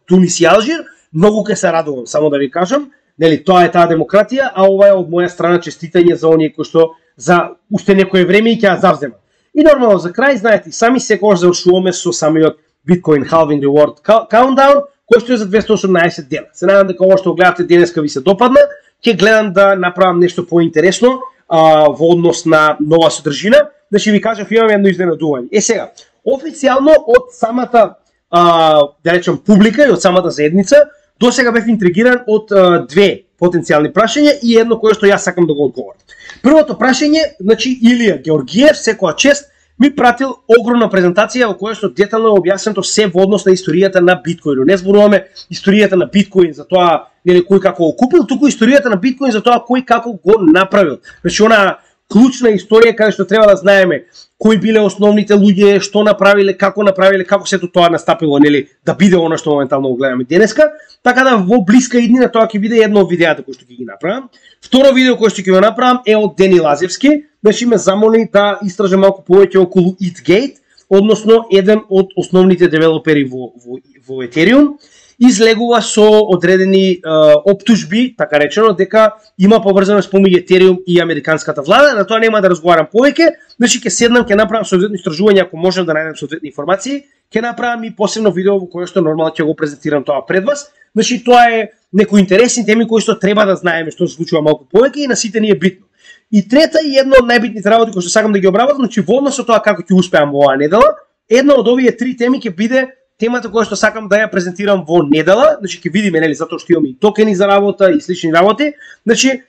Тунис и Алжир, многу ќе се радувам, само да ви кажам, нели тоа е таа демократија, а ова е од моја страна честитање за оние кои што за уште некое време и ќе ја завземат. И нормално за крај, знаете, сами секогаш завршуваме со самиот Bitcoin Halving Reward Countdown, кој што е за 218 дена. Се надам дека ова што гледате денеска ви се допадна. Ќе гледам да направам нешто поинтересно во однос на нова содржина. Значи ви кажав, имаме едно изненадување. Сега, официјално од самата да речем публика и од самата заедница, до сега бев интригиран од две потенцијални прашања и едно кое што јас сакам да го одговорам. Првото прашање, значи Илија Георгиев, секоја чест, ми пратил огромна презентација во која што детално е објаснето се во однос на историјата на биткоинот. Не зборуваме историјата на биткоин за тоа нели кој како го купил, туку историјата на биткоин за тоа кој како го направил. Значи она клучна историја каде што треба да знаеме кои биле основните луѓе, што направиле, како сето тоа настапило, нели, да биде она што моментално го гледаме денеска. Така да во блиска иднина тоа ќе биде едно од видеата кои што ќе ги направам. Второ видео кое што ќе го направам е од Дени Лазевски, значи ме замоли да истражам малку повеќе околу ETHgate, односно еден од основните девелопери во Ethereum, излегува со одредени оптужби, така речено, дека има поврзаност помеѓу Ethereum и американската влада. На тоа нема да разговарам повеќе, значи ќе седнам, ќе направам соодветно истражување ако можам да најдем соодветни информации, ќе направам и посебно видео во кое што нормално ќе го презентирам тоа пред вас. Значи тоа е некои интересни теми кои што треба да знаеме што се случува малку повеќе и на сите ни е битно. И трета и една од најбитните работи кои што сакам да ги обработам, значи во однос со тоа како ќе успеам во оваа недела, една од овие три теми ќе биде темата која што сакам да ја презентирам во недела, значи ќе видиме, нели, затоа што имаме и токени за работа и слични работи. Значи,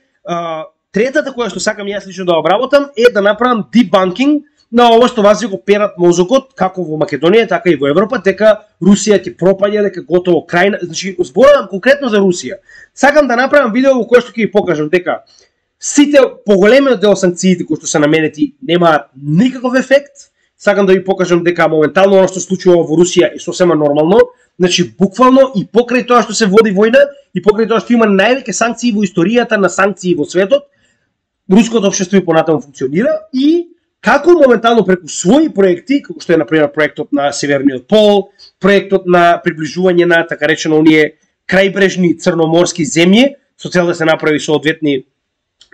Третата која што сакам јас лично да обработам е да направам дебанкинг на ова што вас го перат мозокот, како во Македонија, така и во Европа, дека Русија ќе пропаѓа, дека готово крај, значи зборувам конкретно за Русија. Сакам да направам видео во кое што ќе ви покажам дека сите поголемиот дел санкциите кои што се наменети немаат никаков ефект. Сакам да ви покажам дека моментално оно што случува во Русија е сосема нормално, значи буквално и покрај тоа што се води војна и покрај тоа што има највеќе санкции во историјата на санкции во светот, руското општество и понатаму функционира и како моментално преку своји проекти, како што е например проектот на Северниот пол, проектот на приближување на така речено оние крајбрежни црноморски земји, со цел да се направи соодветни,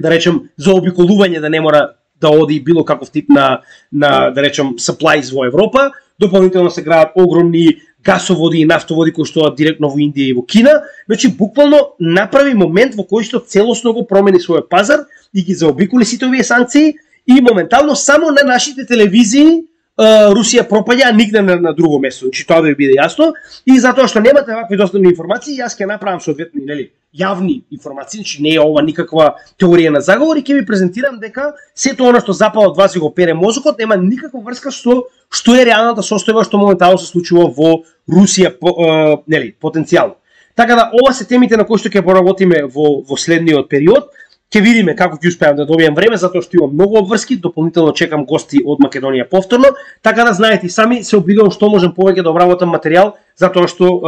да речем, заобиколување да не мора да оди било каков тип на да речем supplies во Европа, дополнително се градат огромни гасоводи и нафтоводи кои што директно во Индија и во Кина, значи буквално направи момент во кој што целосно го промени својот пазар и ги заобиколи сите овие санкции и моментално само на нашите телевизии Русија пропаѓа, нигде на друго место. Значи тоа да ви биде јасно и затоа што немате вакви достојни информации, јас ќе направам соодветни, нели, јавни информации, значи не е ова никаква теорија на заговор и ќе ви презентирам дека сето она што запал од вас и го пере мозокот нема никаква врска со што е реалната состојба што моментално се случува во Русија, нели, потенцијално. Така да ова се темите на кои што ќе поработиме во следниот период. Ќе видиме како ќе успеам да добијам време, затоа што имам многу обврски, дополнително чекам гости од Македонија повторно, така да знаете сами се обидувам што можам повеќе да обработам материјал, затоа што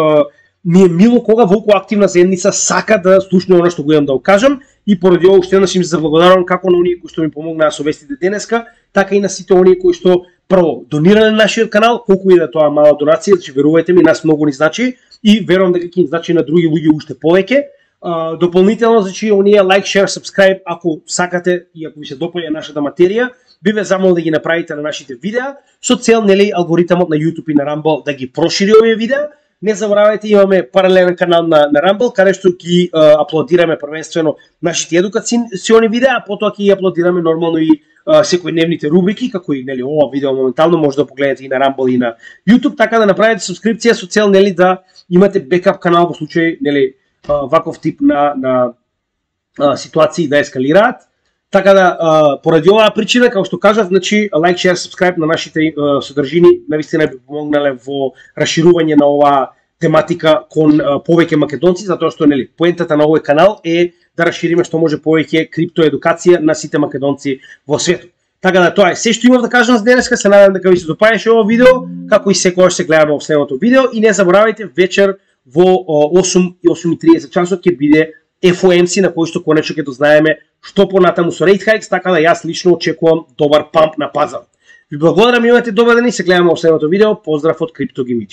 ми е мило кога волку активна заедница сака да слушне она што го имам да го кажам и поради ова уште еднаш им се заблагодарувам како на оние кои што ми помогнаа со вестите денеска, така и на сите оние кои што прво донирале на нашиот канал, колку и да тоа мала донација, значи верувајте ми, нас многу ни значи и верувам дека ќе им значи на други луѓе уште повеќе. Дополнително, значи, оние like, share, subscribe, ако сакате и ако ви се допаѓа нашата материја, би ве замолил да ги направите на нашите видеа, со цел, нели, алгоритмот на YouTube и на Rumble да ги прошири овие видеа. Не заборавајте, имаме паралелен канал на Rumble, каде што ги аплодираме првенствено нашите едукациони видеа, а потоа ќе ги аплодираме нормално и секојдневните рубрики, како и, нели, ова видео моментално може да погледнете и на Rumble и на YouTube, така да направите субскрипција со цел, нели, да имате бекап канал во случај, нели, ваков тип на ситуации да ескалираат. Така да, поради оваа причина, како што кажав, значи, like, share, subscribe на нашите содржини, навистина би помогнале во расширување на оваа тематика кон повеќе македонци, затоа што, нели, поентата на овој канал е да расшириме што може повеќе криптоедукација на сите македонци во светот. Така да, тоа е се што имав да кажам за денеска, се надевам дека ви се допаѓаше ова видео, како и секогаш се гледаме во следното видео и не заборавајте вечер во 8:30 часот ќе биде FOMC на кој што конечно ќе дознаеме што понатаму со rate hikes, така да јас лично очекувам добар памп на пазар. Ви благодарам, имате добар ден и се гледаме во следното видео. Поздрав од CryptoGimity.